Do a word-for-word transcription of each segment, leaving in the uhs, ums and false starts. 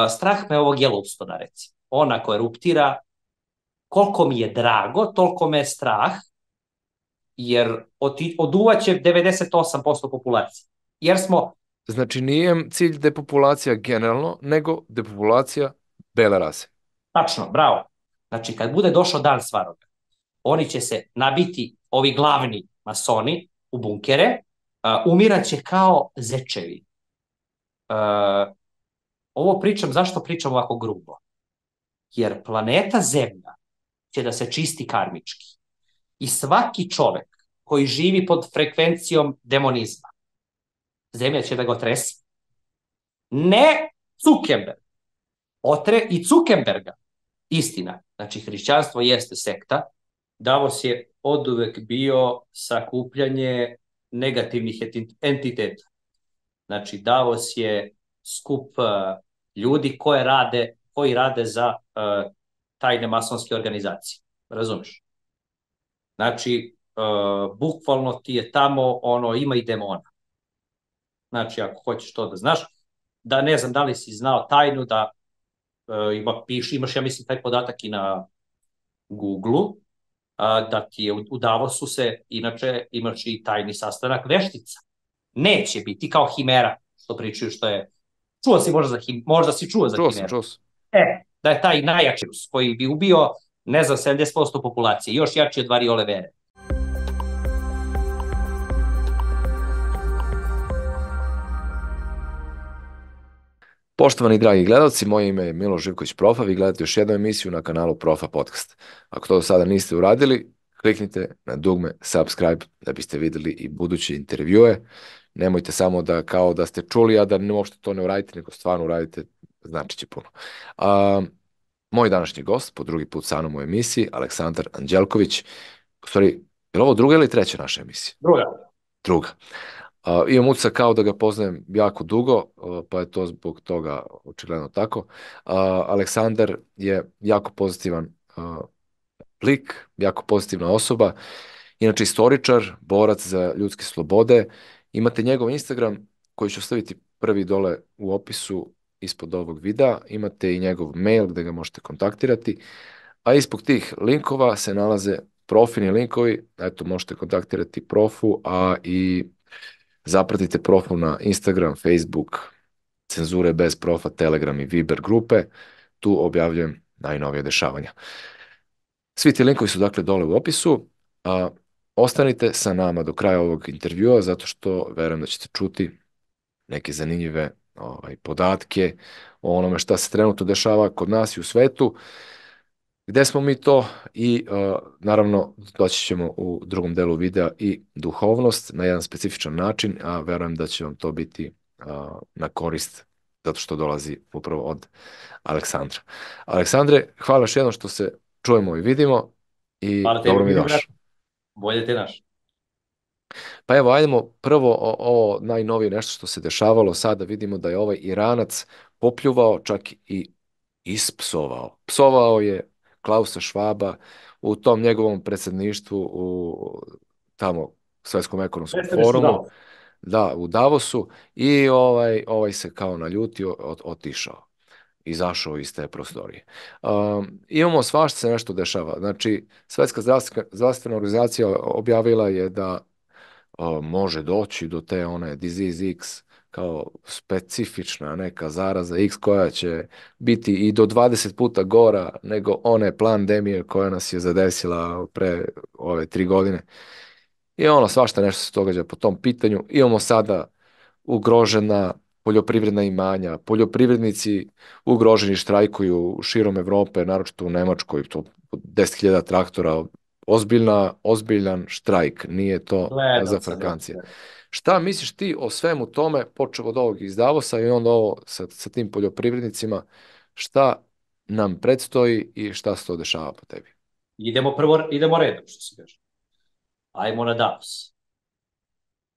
strah me ovog Yellowstona, recimo. On ako eruptira, koliko mi je drago, toliko me je strah, jer oduvaće devedeset osam posto populacije. Jer smo... Znači, nije cilj depopulacija generalno, nego depopulacija bele rase. Tačno, bravo. Znači, kad bude došao dan svaroga, oni će se nabiti, ovi glavni masoni, u bunkere, uh, umiraće kao zečevi. Uh, ovo pričam, zašto pričam ovako grubo? Jer planeta Zemlja će da se čisti karmički. I svaki čovek koji živi pod frekvencijom demonizma, Zemlja će da ga otresi. Ne Zuckerberg. Otre i Zuckerberga. Istina. Znači, hrišćanstvo jeste sekta. Davos je oduvek bio sakupljanje negativnih entiteta. Znači, Davos je skup uh, ljudi koje rade, koji rade za uh, tajne masonske organizacije. Razumeš? Znači, uh, bukvalno ti je tamo, ono, ima i demona. Znači, ako hoćeš to da znaš, da ne znam da li si znao tajnu da uh, ima, piš, imaš, ja mislim, taj podatak i na Google-u, uh, da ti je u, u Davosu se, inače, imaš i tajni sastanak veštica. Neće biti kao Himera, što pričaju što je... Čuo si možda za Him, možda si čuo za Čuo sam, Himeru. čuo sam. E, da je taj najjači virus koji bi ubio, ne znam, sedamdeset posto populacije, još jači od variole vere. Poštovani dragi gledalci, moje ime je Miloš Živković Profa, vi gledate još jednu emisiju na kanalu Profa Podcast. Ako to do sada niste uradili, kliknite na dugme subscribe da biste videli i buduće intervjue. Nemojte samo da kao da ste čuli, a da ne uopšte to ne uradite, nego stvarno uradite, znači će puno. A, moj današnji gost, po drugi put sa mnom u emisiji, Aleksandar Anđelković. U stvari, je li ovo druga ili treća naša emisija? Druga. Druga. Uh, imam utisak kao da ga poznajem jako dugo, uh, pa je to zbog toga očigledno tako. Uh, Aleksandar je jako pozitivan uh, lik, jako pozitivna osoba, inače istoričar, borac za ljudske slobode. Imate njegov Instagram koji ću staviti prvi dole u opisu ispod ovog videa, imate i njegov mail gde ga možete kontaktirati, a ispod tih linkova se nalaze profilni linkovi, eto možete kontaktirati profu, a i zapratite Profu na Instagram, Facebook, Cenzure bez profa, Telegram i Viber grupe. Tu objavljujem najnovije dešavanja. Svi ti linkovi su dakle dole u opisu. A, ostanite sa nama do kraja ovog intervjua zato što verujem da ćete čuti neke zanimljive ovaj, podatke o onome šta se trenutno dešava kod nas i u svetu. Gde smo mi to i uh, naravno doći ćemo u drugom delu videa i duhovnost na jedan specifičan način, a verujem da će vam to biti uh, na korist zato što dolazi upravo od Aleksandra. Aleksandre, hvala još jednom što se čujemo i vidimo i Hvala tebi, dobro mi došao. bolje te naš. Pa evo, ajdemo prvo o, ovo najnovije nešto što se dešavalo. Sada vidimo da je ovaj Iranac popljuvao, čak i ispsovao. Psovao je Klausa Švaba u tom njegovom predsjedništvu u tamo Svetskom ekonomskom forumu, da, u Davosu, i ovaj, ovaj se kao naljutio, od, otišao, izašao iz te prostorije. Um, imamo svašta se nešto dešava. Znači, Svetska zdravstvena organizacija objavila je da o, može doći do te one disease X, kao specifična neka zaraza X koja će biti i do dvadeset puta gora nego one pandemije koja nas je zadesila pre ove tri godine. I ono, svašta nešto se događa po tom pitanju. Imamo sada ugrožena poljoprivredna imanja, poljoprivrednici ugroženi, štrajkuju širom Evrope, naročito u Nemačkoj, to deset hiljada traktora, ozbiljna, ozbiljan štrajk, nije to Gledam za sam. frkancije. Šta misliš ti o svemu tome, počeo od ovog iz Davosa i onda ovo sa, sa tim poljoprivrednicima, šta nam predstoji i šta se to dešava po tebi? Idemo prvo, idemo redom, što se kaže. Ajmo na Davos.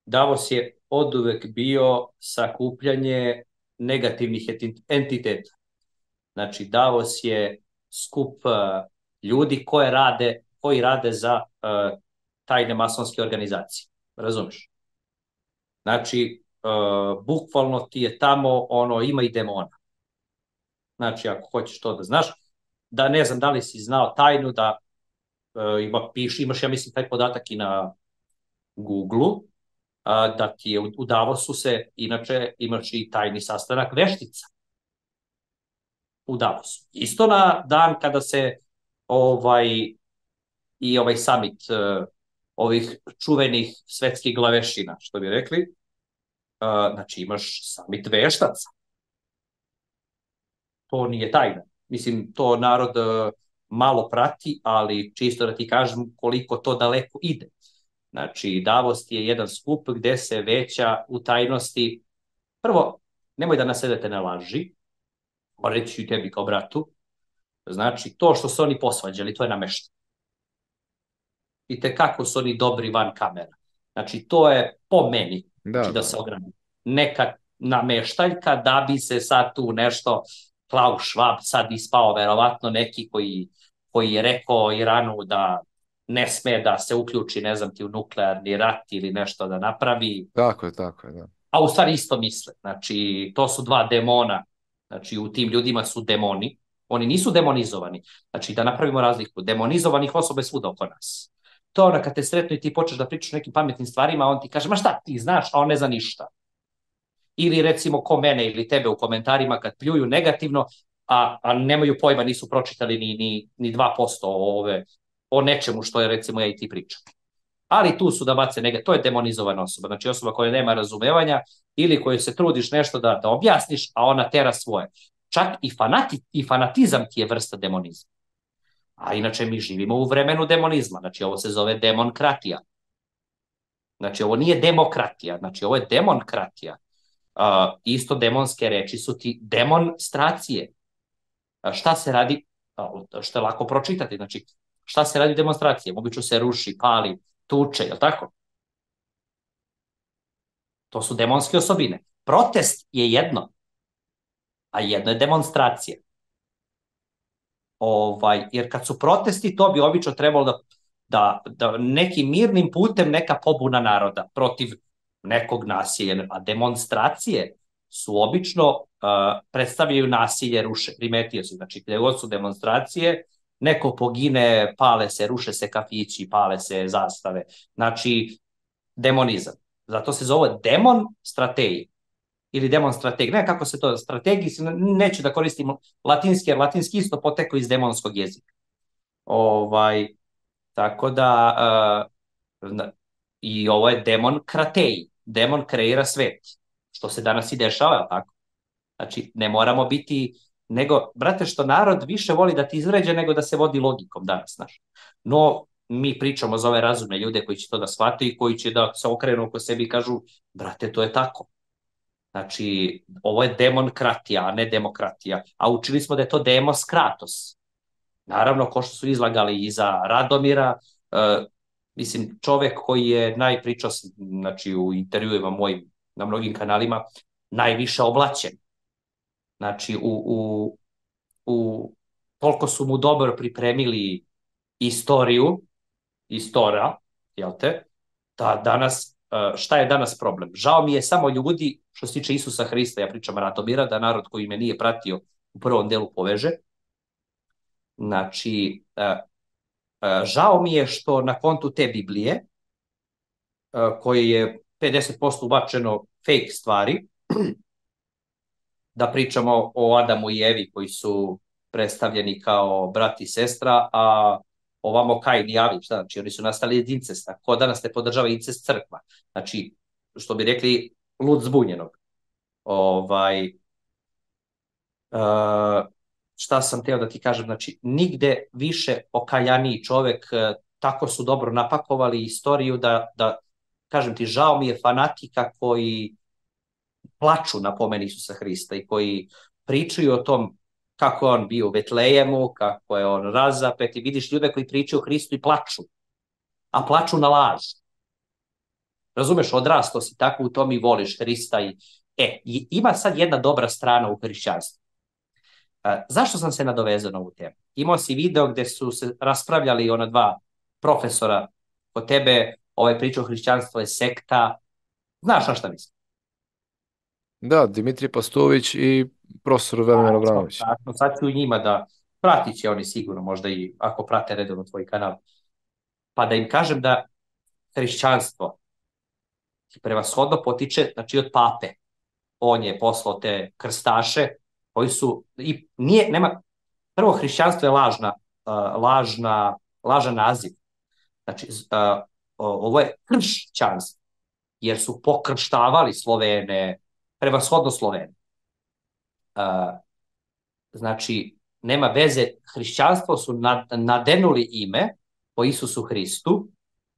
Davos je oduvek bio sakupljanje negativnih entiteta. Znači, Davos je skup uh, ljudi koje rade, koji rade za uh, tajne masonske organizacije. Razumeš? Znači, uh, bukvalno ti je tamo, ono, ima i demona. Znači, ako hoćeš to da znaš, da ne znam da li si znao tajnu da e, ima, piš, imaš, ja mislim, taj podatak i na Google-u, a, da ti je u, u Davosu se, inače, imaš i tajni sastanak veštica u Davosu. Isto na dan kada se ovaj i ovaj summit uh, ovih čuvenih svetskih glavešina, što bi rekli, uh, znači imaš summit veštaca. To nije tajna. Mislim, to narod uh, malo prati, ali čisto da ti kažem koliko to daleko ide. Znači, Davos je jedan skup gde se veća u tajnosti. Prvo, nemoj da nasedete na laži, reći ću tebi kao bratu, znači, to što su oni posvađali, to je namešteno. I te kako su oni dobri van kamera. Znači, to je po meni, znači da, da se ogradim. Neka nameštaljka da bi se sad tu nešto, Klaus Schwab sad ispao verovatno neki koji, koji je rekao Iranu da ne sme da se uključi, ne znam ti, u nuklearni rat ili nešto da napravi. Tako je, tako je, da. A u stvari isto misle. Znači, to su dva demona. Znači, u tim ljudima su demoni. Oni nisu demonizovani. Znači, da napravimo razliku. Demonizovanih osoba je svuda oko nas. To ono kad te sretnu i ti počneš da pričaš o nekim pametnim stvarima, on ti kaže, ma šta ti znaš, a on ne zna ništa. Ili recimo ko mene ili tebe u komentarima kad pljuju negativno, a, a nemaju pojma, nisu pročitali ni, ni, ni dva posto o, ove, o nečemu što je recimo ja i ti pričam. Ali tu su da bace negativno, to je demonizovana osoba, znači osoba koja nema razumevanja ili koju se trudiš nešto da, da objasniš, a ona tera svoje. Čak i, fanati, i fanatizam ti je vrsta demonizma. A inače mi živimo u vremenu demonizma, znači ovo se zove demonkratija. Znači ovo nije demokratija, znači ovo je demonkratija. Uh, isto demonske reči su ti demonstracije. Uh, šta se radi, uh, što je lako pročitati, znači šta se radi demonstracije? Obično se ruši, pali, tuče, je li tako? To su demonske osobine. Protest je jedno, a jedno je demonstracija. Ovaj, jer kad su protesti, to bi obično trebalo da, da, da nekim mirnim putem neka pobuna naroda protiv nekog nasilja, a demonstracije su obično uh, predstavljaju nasilje, ruše, primetio se, znači gde god su demonstracije, neko pogine, pale se, ruše se kafići, pale se zastave, znači demonizam. Zato se zove demon strategije ili demon strategije, ne kako se to strategiji, neću da koristim latinski, jer latinski isto potekao iz demonskog jezika. Ovaj, tako da uh, i ovo je demon krateji, demon kreira svet, što se danas i dešava, tako? Znači, ne moramo biti, nego, brate, što narod više voli da ti izređe nego da se vodi logikom danas, znaš. No, mi pričamo za ove razumne ljude koji će to da shvate i koji će da se okrenu oko sebi i kažu, brate, to je tako. Znači, ovo je demonkratija, a ne demokratija. A učili smo da je to demos kratos. Naravno, ko što su izlagali iza Radomira, uh, mislim, čovek koji je najpričao, znači, u intervjuima mojim na mnogim kanalima, najviše oblaćen. Znači, u, u, u toliko su mu dobro pripremili istoriju, istora, jel te, da danas, šta je danas problem? Žao mi je samo ljudi, što se tiče Isusa Hrista, ja pričam Radomira, da narod koji me nije pratio u prvom delu poveže. Znači, žao mi je što na kontu te Biblije, koje je pedeset posto ubačeno fake stvari, da pričamo o Adamu i Evi koji su predstavljeni kao brat i sestra, a ovamo Kain i Abil, šta znači, oni su nastali iz incesta. Ko danas ne podržava incest crkva? Znači, što bi rekli, lud zbunjenog. Ovaj, uh, šta sam teo da ti kažem, znači, nigde više okajaniji čovek, uh, tako su dobro napakovali istoriju da, da, kažem ti, žao mi je fanatika koji plaču na pomen Isusa Hrista i koji pričaju o tom kako je on bio u Betlejemu, kako je on razapet i vidiš ljude koji pričaju o Hristu i plaču, a plaču na laž. Razumeš, odrasto si tako u tom i voliš Hrista. I... E, ima sad jedna dobra strana u hrišćanstvu. E, zašto sam se nadovezao na ovu temu? Imao si video gde su se raspravljali ona dva profesora kod tebe, ovaj priča o hrišćanstvu je sekta. Znaš na šta mislim? Da, Dimitrij Pastović i profesor Velimir Tačno, Abramović. tačno. Sad ću njima da pratit će oni sigurno, možda i ako prate redovno tvoj kanal, pa da im kažem da hrišćanstvo prevashodno potiče, znači od pape. On je poslao te krstaše koji su, i nije, nema, prvo hrišćanstvo je lažna, uh, lažna, lažan naziv. Znači, uh, ovo je kršćanstvo, jer su pokrštavali Slovene, prevashodno Slovene. Uh, znači, nema veze, hrišćanstvo su nadenuli ime po Isusu Hristu,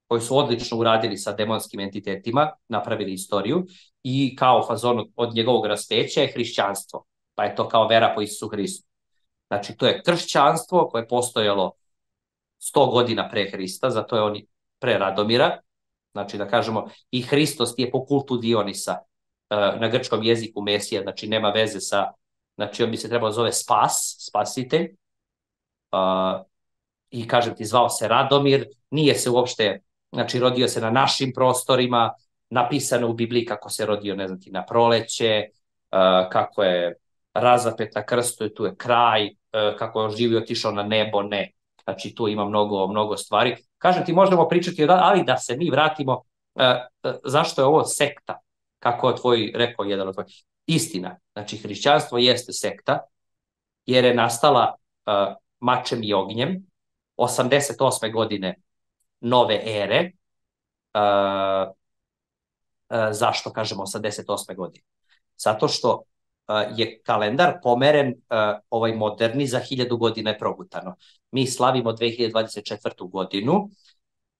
koji su odlično uradili sa demonskim entitetima, napravili istoriju, i kao fazon od njegovog raspeća je hrišćanstvo, pa je to kao vera po Isusu Hristu. Znači, to je kršćanstvo koje je postojalo sto godina pre Hrista, zato je on pre Radomira, znači da kažemo i Hristos je po kultu Dionisa, na grčkom jeziku Mesija, znači nema veze sa, znači on bi se trebao zove Spas, spasitelj, i kažem ti, zvao se Radomir, nije se uopšte, znači rodio se na našim prostorima, napisano u Bibliji kako se rodio, ne znam ti, na proleće, kako je razapet na krstu i tu je kraj, kako je on živio, otišao na nebo, ne. Znači tu ima mnogo, mnogo stvari. Kažem ti, možemo pričati, ali da se mi vratimo, zašto je ovo sekta, kako je tvoj, rekao jedan od tvoj. Istina, znači hrišćanstvo jeste sekta, jer je nastala mačem i ognjem, osamdeset osme godine nove ere. Uh, uh, zašto kažemo osamdeset osme godine? Zato što uh, je kalendar pomeren, uh, ovaj moderni, za hiljadu godina je progutano. Mi slavimo dve hiljade dvadeset četvrtu godinu, uh,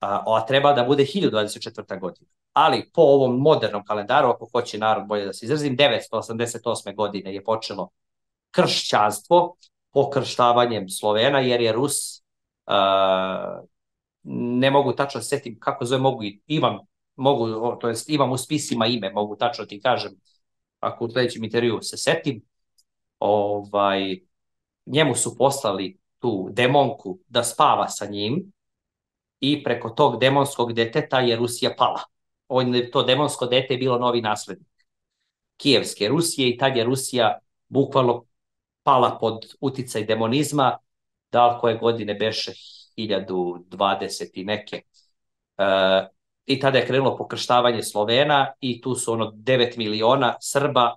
a treba da bude hiljadu dvadeset četvrta godina. Ali po ovom modernom kalendaru, ako hoće narod bolje da se izrazim, devetsto osamdeset osme godine je počelo kršćanstvo pokrštavanjem Slovena, jer je Rus, Uh, ne mogu tačno se setim kako zove, mogu i imam, mogu, to jest imam u spisima ime, mogu tačno ti kažem, ako u sledećem intervju se setim, ovaj, njemu su poslali tu demonku da spava sa njim i preko tog demonskog deteta je Rusija pala. On, to demonsko dete je bilo novi naslednik Kijevske Rusije i tad je Rusija bukvalno pala pod uticaj demonizma, da li koje godine beše hiljadu dvadeset i neke. E, I tada je krenulo pokrštavanje Slovena i tu su ono devet miliona Srba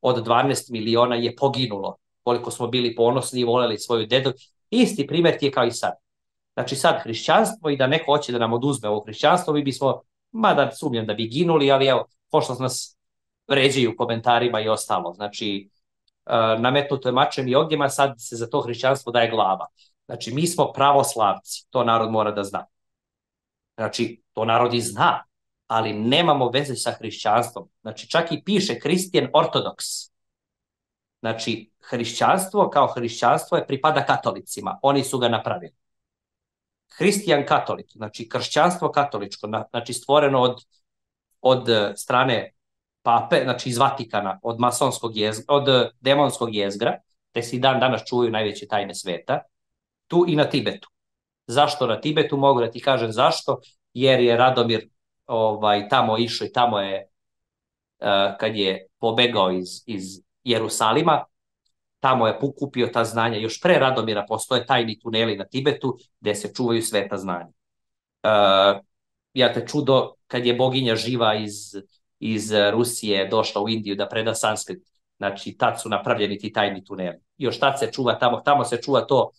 od dvanaest miliona je poginulo. Koliko smo bili ponosni i voleli svoju dedu. Isti primjer ti je kao i sad. Znači sad hrišćanstvo i da neko hoće da nam oduzme ovo hrišćanstvo, mi bismo, mada sumnjam da bi ginuli, ali evo, pošto nas vređaju u komentarima i ostalo. Znači, nametnuto je mačem i ognjema, sad se za to hrišćanstvo daje glava. Znači, mi smo pravoslavci, to narod mora da zna. Znači, to narod i zna, ali nemamo veze sa hrišćanstvom. Znači, čak i piše Christian Orthodox. Znači, hrišćanstvo kao hrišćanstvo je pripada katolicima, oni su ga napravili. Hristijan katolik, znači kršćanstvo katoličko, znači stvoreno od, od strane pape, znači iz Vatikana, od masonskog jezgra, od demonskog jezgra, te se i dan danas čuvaju najveće tajne sveta, tu i na Tibetu. Zašto na Tibetu? Mogu da ti kažem zašto, jer je Radomir ovaj, tamo išao i tamo je, uh, kad je pobegao iz, iz Jerusalima, tamo je pokupio ta znanja. Još pre Radomira postoje tajni tuneli na Tibetu gde se čuvaju sveta znanja. Uh, ja te čudo, kad je boginja živa iz, iz Rusije došla u Indiju da preda sanskrit, znači tad su napravljeni ti tajni tuneli. Još tad se čuva tamo, tamo se čuva to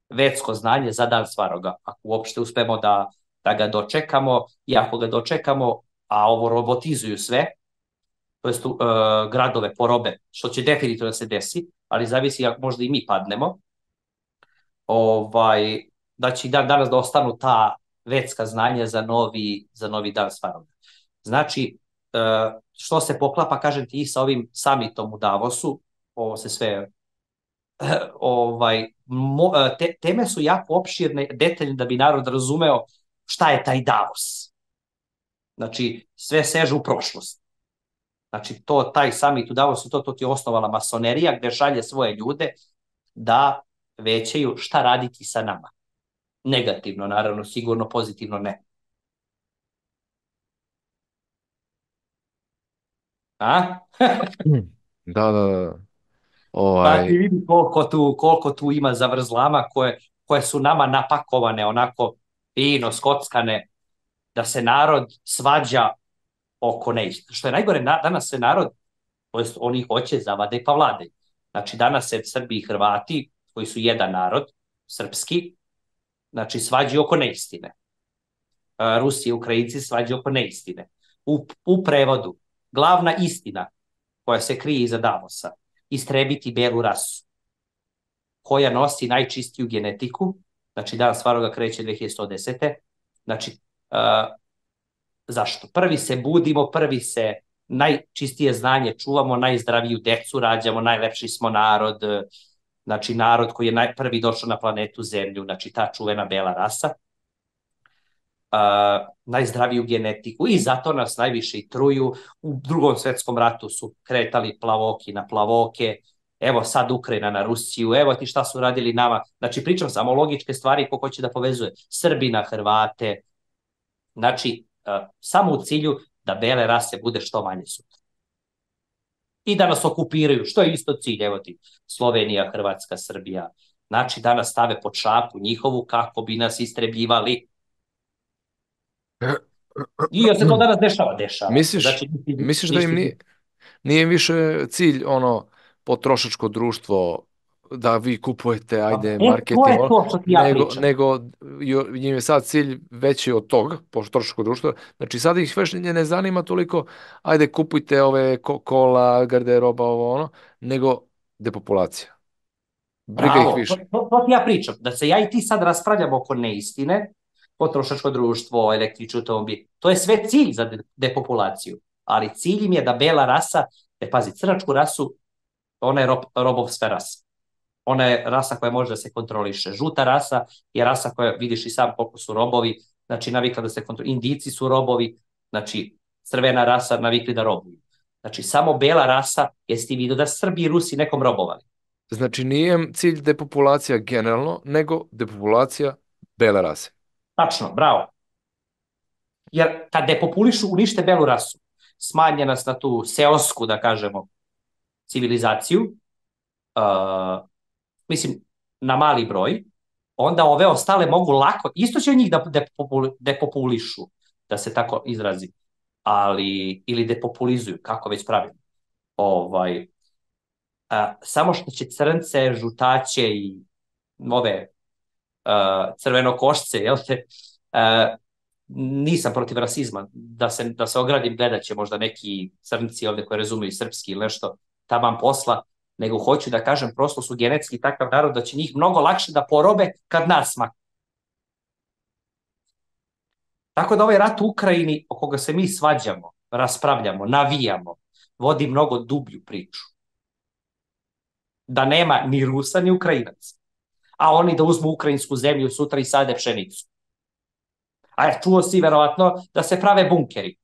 vedsko znanje za dan Svaroga, ako uopšte uspemo da, da ga dočekamo, i ako ga dočekamo, a ovo robotizuju sve, to jest uh, gradove porobe, što će definitivno da se desi, ali zavisi ako možda i mi padnemo, ovaj, da će i dan danas da ostanu ta vedska znanja za novi, za novi dan Svaroga. Znači, uh, što se poklapa, kažem ti, i sa ovim samitom u Davosu, ovo se sve ovaj, mo, te, teme su jako opširne, detaljne da bi narod razumeo šta je taj Davos. Znači, sve seže u prošlost. Znači, to, taj samit u Davosu, to, to ti je osnovala masonerija gde šalje svoje ljude da većaju šta raditi sa nama. Negativno, naravno, sigurno, pozitivno ne. A? Da, da, da. Pa ti Ovaj, vidi koliko tu, koliko tu ima zavrzlama koje, koje su nama napakovane, onako fino, skockane, da se narod svađa oko neistina. Što je najgore, na, danas se narod, to jest oni hoće zavade pa vlade. Znači danas se Srbi i Hrvati, koji su jedan narod, srpski, znači svađaju oko neistine. A, Rusi i Ukrajinci svađaju oko neistine. U, u prevodu, glavna istina koja se krije iza Davosa, istrebiti belu rasu, koja nosi najčistiju genetiku, znači dan Svaroga kreće dve hiljade sto desete. Znači, uh, zašto? Prvi se budimo, prvi se najčistije znanje čuvamo, najzdraviju decu rađamo, najlepši smo narod, znači narod koji je naj, prvi došao na planetu Zemlju, znači ta čuvena bela rasa, uh, najzdraviju genetiku i zato nas najviše i truju. U drugom svetskom ratu su kretali plavoki na plavoke, evo sad Ukrajina na Rusiju, evo ti šta su radili nama. Znači pričam samo logičke stvari ko hoće da povezuje Srbi na Hrvate, znači uh, samo u cilju da bele rase bude što manje sutra. I da nas okupiraju, što je isto cilj, evo ti Slovenija, Hrvatska, Srbija. Znači da nas stave pod šapu njihovu kako bi nas istrebljivali. I jel se to danas dešava? Dešava se. misliš, Znači, ništa, misliš da im ništa. nije, nije im više cilj ono potrošačko društvo da vi kupujete, ajde, E, to marketing, je ono, to što ti ja nego, pričam. nego jo- njim je sad cilj veći od tog potrošačkog društva. Znači sad ih već ne zanima toliko, ajde kupujte ove kola, garderoba, ovo ono, nego depopulacija. Briga ih Bravo, to, više. to, to ti ja pričam. Da se ja i ti sad raspravljamo oko neistine, potrošačko društvo, električni automobil, to je sve cilj za de, depopulaciju. Ali cilj im je da bela rasa, e pazi, crnačku rasu, ona je rob, robovska rasa. Ona je rasa koja može da se kontroliše. Žuta rasa je rasa koja, vidiš i sam koliko su robovi, znači navikla da se kontroliše. Indici su robovi, znači crvena rasa navikli da robuju. Znači samo bela rasa, jesi ti vidio da Srbi i Rusi nekom robovali? Znači nije im cilj depopulacija generalno, nego depopulacija bele rase. Tačno, bravo. Jer kad depopulišu, unište belu rasu, smanje nas na tu seosku, da kažemo, civilizaciju, uh, mislim, na mali broj, onda ove ostale mogu lako, isto će njih da depopulišu, da se tako izrazi, ali, ili depopulizuju, kako već pravimo. Ovaj, a, samo što će crnce, žutaće i ove uh, crvenokošce, jel te, uh, nisam protiv rasizma, da se, da se ogradim, gledat će možda neki crnci ovde koji razumiju srpski ili nešto taman posla, nego hoću da kažem, prosto su genetski takav narod da će njih mnogo lakše da porobe kad nas makne. Tako da ovaj rat u Ukrajini, o koga se mi svađamo, raspravljamo, navijamo, vodi mnogo dublju priču. Da nema ni Rusa ni Ukrajinaca. A oni da uzmu ukrajinsku zemlju sutra i sade pšenicu. A ja čuo si verovatno da se prave bunkeri.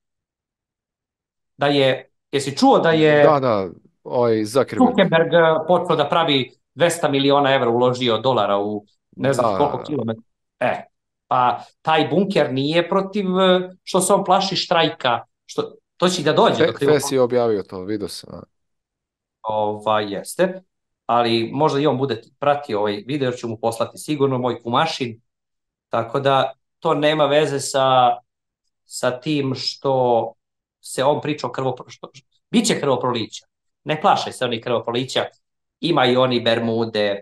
Da je, jesi čuo da je Da, da, ovaj Zuckerberg. Zuckerberg počeo da pravi dvesta miliona evra uložio dolara u ne znam koliko Da, kilometara. E, pa taj bunker nije protiv što se on plaši štrajka, što, to će da dođe. Fe, Do Fes je objavio to, vidio sam. Da. ovaj, jeste, ali možda i on bude pratio ovaj video, jer ću mu poslati sigurno moj kumašin, tako da to nema veze sa, sa tim što se on priča o krvoproliću. Biće krvoprolića, ne plašaj se oni krvoprolića, ima i oni Bermude,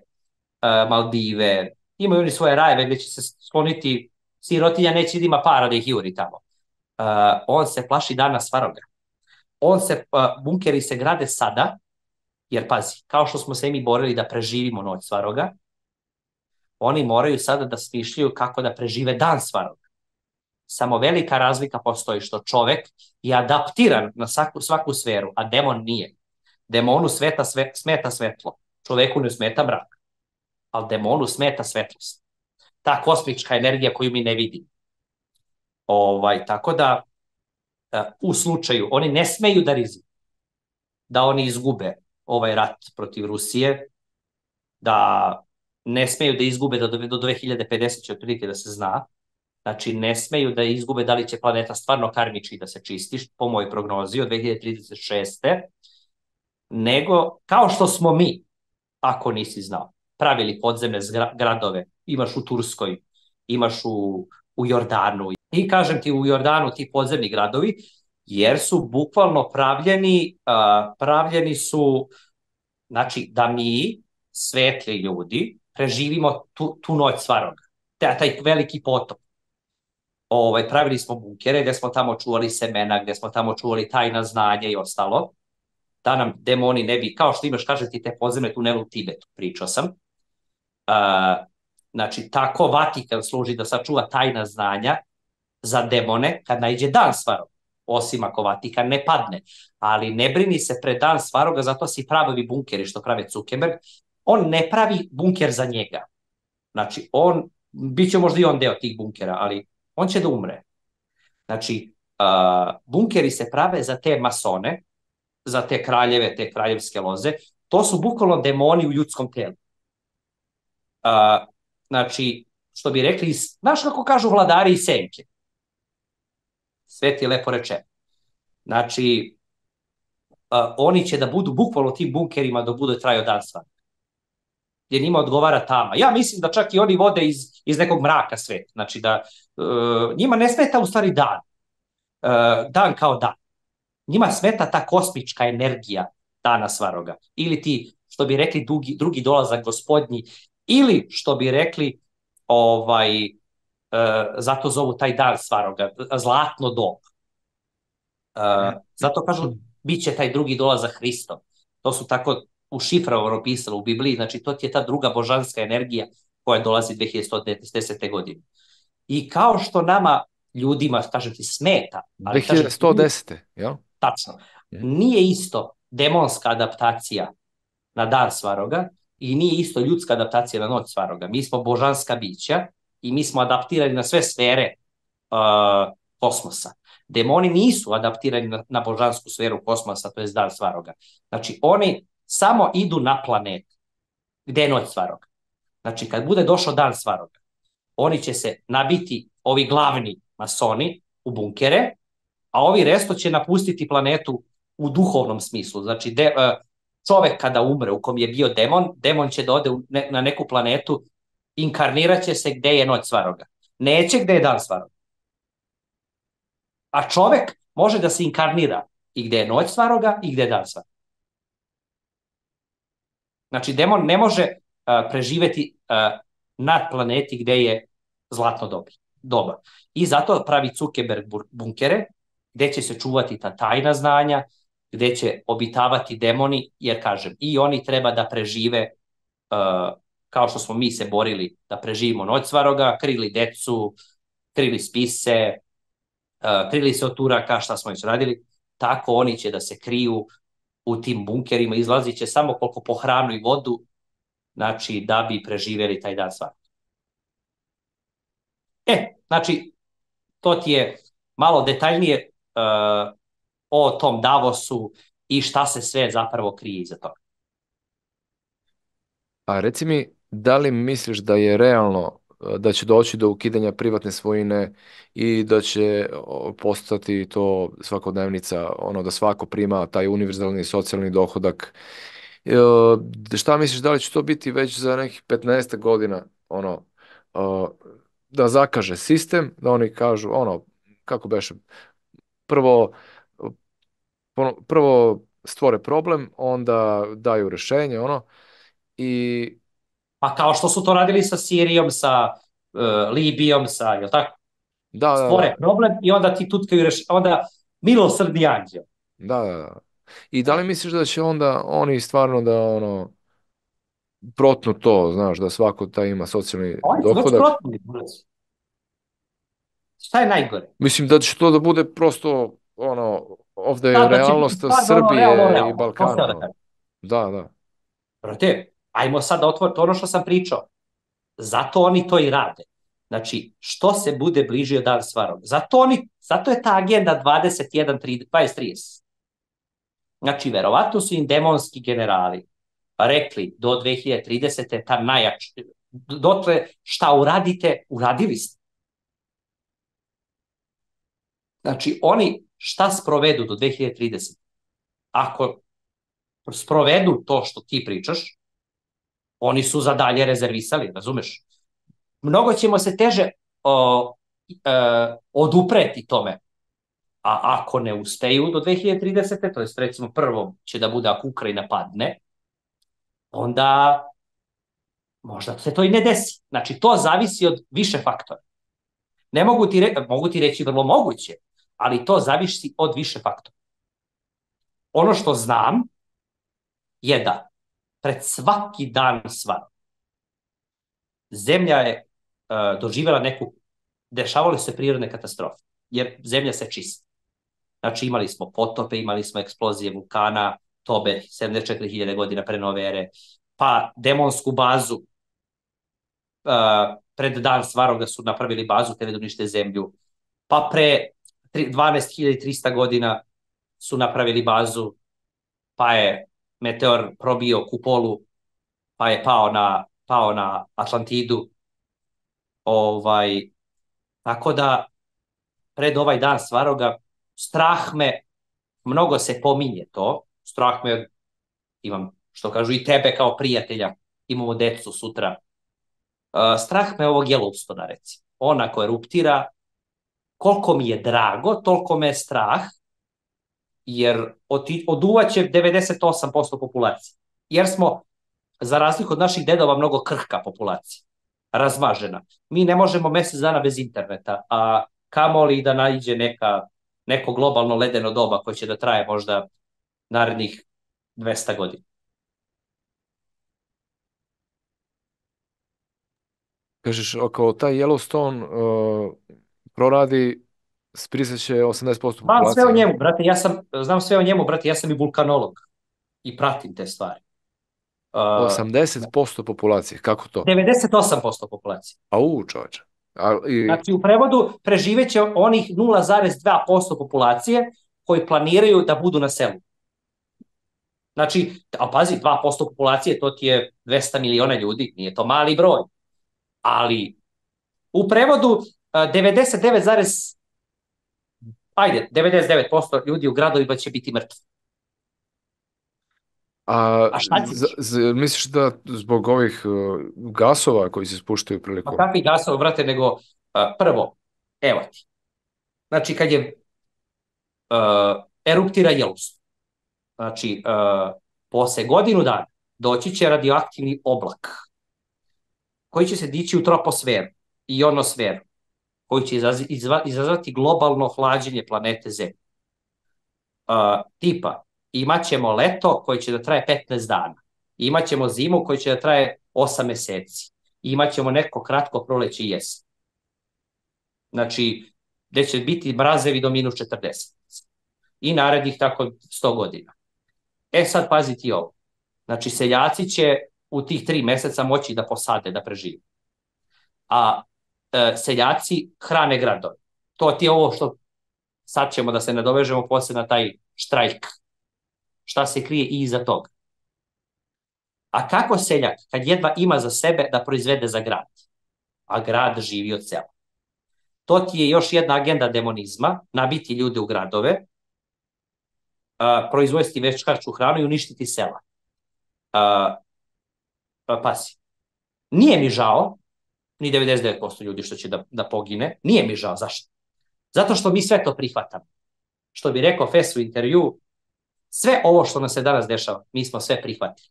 uh, Maldive, imaju oni svoje rajeve gde će se skloniti, sirotinja neće da ima para da ih juri tamo. Uh, on se plaši dana Svaroga. On se, uh, bunkeri se grade sada, jer pazi, kao što smo se i mi borili da preživimo noć Svaroga, oni moraju sada da smišljaju kako da prežive dan Svaroga. Samo velika razlika postoji što čovek je adaptiran na svaku, svaku sferu, a demon nije. Demonu sveta, sve, smeta svetlo, čoveku ne smeta mrak, ali demonu smeta svetlost. Ta kosmička energija koju mi ne vidimo. Ovaj, tako da, u slučaju, oni ne smeju da rizikuju da oni izgube ovaj rat protiv Rusije, da ne smeju da izgube do, do dve hiljade pedeset će otprilike da se zna, znači ne smeju da izgube da li će planeta stvarno karmički da se čisti, po mojoj prognozi od dve hiljade trideset šeste. nego kao što smo mi, ako nisi znao, pravili podzemne zgra- gradove, imaš u Turskoj, imaš u, u Jordanu. I kažem ti, u Jordanu ti podzemni gradovi, jer su bukvalno pravljeni, uh, pravljeni su, znači, da mi, svetli ljudi, preživimo tu, tu noć svaroga. Taj, taj veliki potop. Ovaj, pravili smo bunkere gde smo tamo čuvali semena, gde smo tamo čuvali tajna znanja i ostalo, da nam demoni ne bi, kao što imaš, kaže ti, te podzemne tunele u Tibetu, pričao sam. Uh, znači, tako Vatikan služi da sačuva tajna znanja za demone kad najde dan svarog, osim ako Vatikan ne padne. Ali ne brini se pred dan svaroga, zato si pravi bunkeri što prave Zuckerberg. On ne pravi bunker za njega. Znači, on, bit će možda i on deo tih bunkera, ali on će da umre. Znači, uh, bunkeri se prave za te masone, za te kraljeve, te kraljevske loze. To su bukvalno demoni u ljudskom telu. Uh, znači, što bi rekli, znaš kako kažu vladari i senke? Sve ti je lepo rečeno. Znači, uh, oni će da budu bukvalno tim bunkerima dok bude trajao dan svan. Jer njima odgovara tama. Ja mislim da čak i oni vode iz, iz nekog mraka svet. Znači da uh, njima ne smeta u stvari dan. Uh, dan kao dan. Njima smeta ta kosmička energija dana svaroga. Ili ti, što bi rekli, drugi, drugi dolazak gospodnji. Ili, što bi rekli, ovaj, uh, zato zovu taj dan svaroga, zlatno doba. Uh, zato kažu, bit će taj drugi dolazak Hristov. To su tako u šifrovano pisalo u Bibliji, znači to ti je ta druga božanska energija koja dolazi dve hiljade sto desete. godine. I kao što nama ljudima, kažem ti, smeta, ali kažem, dve hiljade sto desete. jel? Tačno. Nije isto demonska adaptacija na dan svaroga i nije isto ljudska adaptacija na noć svaroga. Mi smo božanska bića i mi smo adaptirani na sve sfere uh, kosmosa. Demoni nisu adaptirani na, na božansku sferu kosmosa, to je dan svaroga. Znači, oni samo idu na planet gde je noć svaroga. Znači, kad bude došao dan svaroga, oni će se nabiti, ovi glavni masoni, u bunkere, a ovi resto će napustiti planetu u duhovnom smislu. Znači, de, čovek kada umre u kom je bio demon, demon će da ode ne, na neku planetu, inkarnirat će se gde je noć svaroga. Neće gde je dan svaroga. A čovek može da se inkarnira i gde je noć svaroga i gde je dan svaroga. Znači, demon ne može uh, preživeti uh, na planeti gde je zlatno doba. doba. I zato pravi Zuckerberg bunkere, gde će se čuvati ta tajna znanja, gde će obitavati demoni, jer kažem, i oni treba da prežive, uh, kao što smo mi se borili da preživimo noć svaroga, krili decu, krili spise, uh, krili se od Turaka, šta smo već radili, tako oni će da se kriju u tim bunkerima, izlazit će samo koliko po hranu i vodu, znači da bi preživeli taj dan svaroga. E, znači, to ti je malo detaljnije uh, o tom Davosu i šta se sve zapravo krije iza toga. A reci mi, da li misliš da je realno da će doći do ukidanja privatne svojine i da će postati to svakodnevnica, ono da svako prima taj univerzalni socijalni dohodak? E, šta misliš, da li će to biti već za nekih petnaest godina, ono, da zakaže sistem, da oni kažu, ono, kako beše, prvo, prvo stvore problem, onda daju rešenje, ono, i... Pa kao što su to radili sa Sirijom, sa uh, Libijom, sa, jel tako? Da, da, Stvore da. problem i onda ti tutkaju rešenje, onda milosrdni anđeo. Da, da, da. I da li misliš da će onda oni stvarno da, ono, protnu to, znaš, da svako taj ima socijalni Oni su već dohodak? protnuli. Šta je najgore? Mislim da će to da bude prosto, ono, ovde Da, je da će biti realnost stvarno ono Srbije realno, i realno. To Balkana. sam da ono. kažem. Da, da. Brate, ajmo sad da otvorimo ono što sam pričao. Zato oni to i rade. Znači, što se bude bližio dan svarog. Zato, oni, zato je ta agenda dvadeset jedan, dvadeset, trideset. Znači, verovatno su im demonski generali rekli do dve hiljade tridesete. ta najjača. Dotle šta uradite, uradili ste. Znači, oni šta sprovedu do dve hiljade tridesete. Ako sprovedu to što ti pričaš, oni su za dalje rezervisali, razumeš? Mnogo ćemo se teže o, e, odupreti tome. A ako ne uspeju do dve hiljade tridesete. to je recimo prvo će da bude ako Ukrajina padne, onda možda se to i ne desi. Znači, to zavisi od više faktora. Ne mogu ti, re, mogu ti reći vrlo moguće, ali to zavisi od više faktora. Ono što znam je da pred svaki dan svan zemlja je uh, doživjela neku, dešavale se prirodne katastrofe, jer zemlja se čisti. Znači, imali smo potope, imali smo eksplozije vulkana, Tobe, sedamdeset četiri hiljade godina pre nove ere, pa demonsku bazu, uh, pred dan Svaroga su napravili bazu, te da unište zemlju, pa pre dvanaest hiljada trista godina su napravili bazu, pa je meteor probio kupolu, pa je pao na, pao na Atlantidu. Ovaj, tako da, pred ovaj dan Svaroga, strah me, mnogo se pominje to, strah me, imam, što kažu i tebe kao prijatelja, imamo decu sutra, uh, strah me ovog Yellowstona, recimo. Ona koja eruptira, koliko mi je drago, toliko me je strah, jer oduvaće devedeset osam posto populacije. Jer smo, za razliku od naših dedova, mnogo krhka populacija, razmažena. Mi ne možemo mesec dana bez interneta, a kamoli da naiđe neka, neko globalno ledeno doba koje će da traje možda narednih dvesta godina. Kažeš, ako taj Yellowstone uh, proradi, spriseće osamdeset posto populacije. Znam sve o njemu, brate, ja sam, znam sve o njemu, brate, ja sam i vulkanolog i pratim te stvari. Uh, osamdeset posto populacije, kako to? devedeset osam posto populacije. Au, čovječe. I... Znači, u prevodu preživeće onih nula zarez dva posto populacije koji planiraju da budu na selu. Znači, a pazi, dva posto populacije, to ti je dvesta miliona ljudi, nije to mali broj. Ali, u prevodu, devedeset devet, ajde, devedeset devet posto ljudi u gradovima će biti mrtvi. A, a šta ćeš? Z, z, misliš da zbog ovih uh, gasova koji se spuštaju prilikom? Pa kakvi gasova, brate, nego uh, prvo, evo ti. Znači, kad je uh, eruptira Yellowstone, znači, uh, posle godinu dana doći će radioaktivni oblak koji će se dići u troposferu i ionosferu, koji će izaz, izva, izazvati globalno hlađenje planete Zemlje. Uh, tipa, imaćemo leto koje će da traje petnaest dana, imaćemo zimu koja će da traje osam meseci, imaćemo neko kratko proleće i jesen. Znači, gde će biti mrazevi do minus četrdeset. I narednih tako sto godina. E sad pazi ti ovo. Znači, seljaci će u tih tri meseca moći da posade, da prežive. A e, seljaci hrane gradove. To ti je ovo što sad ćemo da se nadovežemo posle na taj štrajk. Šta se krije i iza toga. A kako seljak, kad jedva ima za sebe da proizvede za grad, a grad živi od sela? To ti je još jedna agenda demonizma, nabiti ljude u gradove, Uh, proizvesti večkačku hranu i uništiti sela. Uh, pa, pasi. Nije mi žao, ni devedeset devet posto ljudi što će da, da pogine, nije mi žao, zašto? Zato što mi sve to prihvatamo. Što bi rekao Fes u intervju, sve ovo što nam se danas dešava, mi smo sve prihvatili.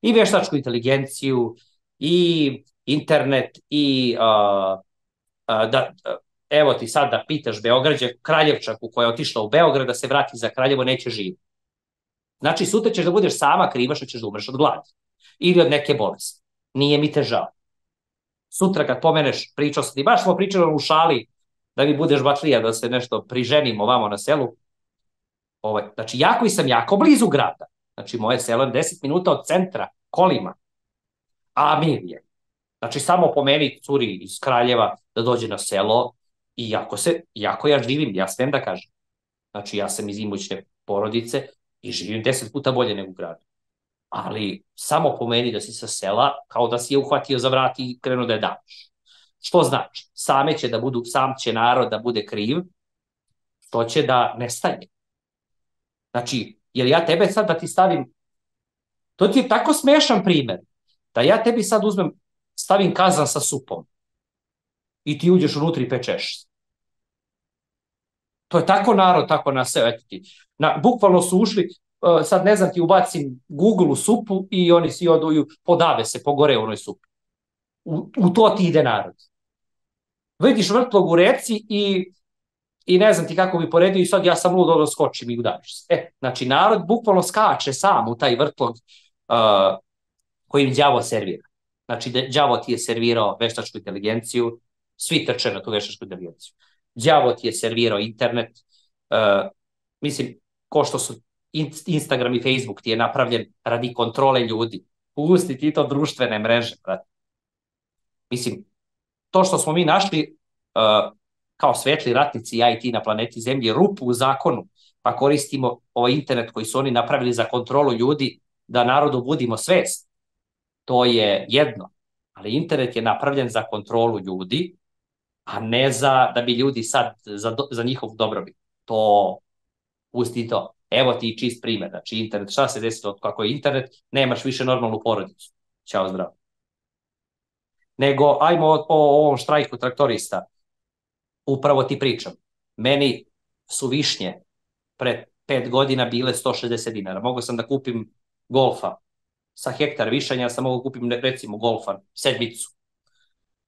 I veštačku inteligenciju, i internet, i uh, uh, da... Uh, evo ti sad da pitaš Beograđe, Kraljevčaku koja je otišla u Beograd da se vrati za Kraljevo, neće živjeti. Znači, sutra ćeš da budeš sama kriva što ćeš da umreš od gladi. Ili od neke bolesti. Nije mi te žao. Sutra kad pomeneš, pričao sam ti, baš smo pričali u šali da mi budeš batlija, da se nešto priženimo ovamo na selu. Ovaj, znači, ja koji sam jako blizu grada. Znači, moje selo je deset minuta od centra, kolima. A mir je. Znači, samo pomeni curi iz Kraljeva da dođe na selo. I jako, se, jako ja živim, ja smem da kažem. Znači, ja sam iz imućne porodice i živim deset puta bolje nego u gradu. Ali samo pomeni da si sa sela, kao da si je uhvatio za vrat i krenuo da je daš. Što znači? Same će da budu, sam će narod da bude kriv, što će da nestaje. Znači, Jer ja tebe sad da ti stavim, to ti je tako smešan primjer, da ja tebi sad uzmem, stavim kazan sa supom i ti uđeš unutra i pečeš. To je tako narod, tako na sve. Eto ti. Na, bukvalno su ušli, uh, sad ne znam ti ubacim Google u supu i oni svi oduju, podave se, pogore u onoj supi. U, u to ti ide narod. Vidiš vrtlog u reci i, i ne znam ti kako bi poredio i sad ja sam ludo da skočim i udaviš se. E, znači narod bukvalno skače sam u taj vrtlog uh, koji im đavo servira. Znači đavo ti je servirao veštačku inteligenciju, svi trče na tu veštačku inteligenciju. Đavo ti je servirao internet, uh, mislim, ko što su Instagram i Facebook ti je napravljen radi kontrole ljudi. Pusti ti to društvene mreže, brate. Mislim, to što smo mi našli uh, kao svetli ratnici i I T na planeti Zemlji, rupu u zakonu, pa koristimo ovaj internet koji su oni napravili za kontrolu ljudi, da narodu budimo svest. To je jedno. Ali internet je napravljen za kontrolu ljudi, a ne za da bi ljudi sad, za, do, za njihov dobrobit. To, pusti to. Evo ti čist primjer. Znači internet, šta se desilo kako je internet, nemaš više normalnu porodicu. Ćao, zdravo. Nego, ajmo o, o ovom štrajku traktorista. Upravo ti pričam. Meni su višnje pre pet godina bile sto šezdeset dinara. Mogao sam da kupim golfa sa hektar višanja, sam mogu kupim recimo golfa, sedmicu.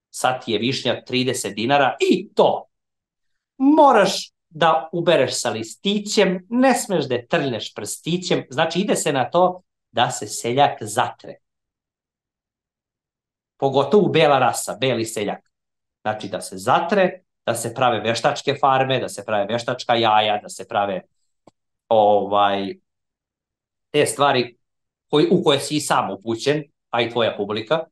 Sad je višnja trideset dinara i to moraš da ubereš sa listićem, ne smeš da je trljneš prstićem, znači ide se na to da se seljak zatre. Pogotovo bela rasa, beli seljak. Znači da se zatre, da se prave veštačke farme, da se prave veštačka jaja, da se prave ovaj, te stvari koji, u koje si i sam upućen, a i tvoja publika.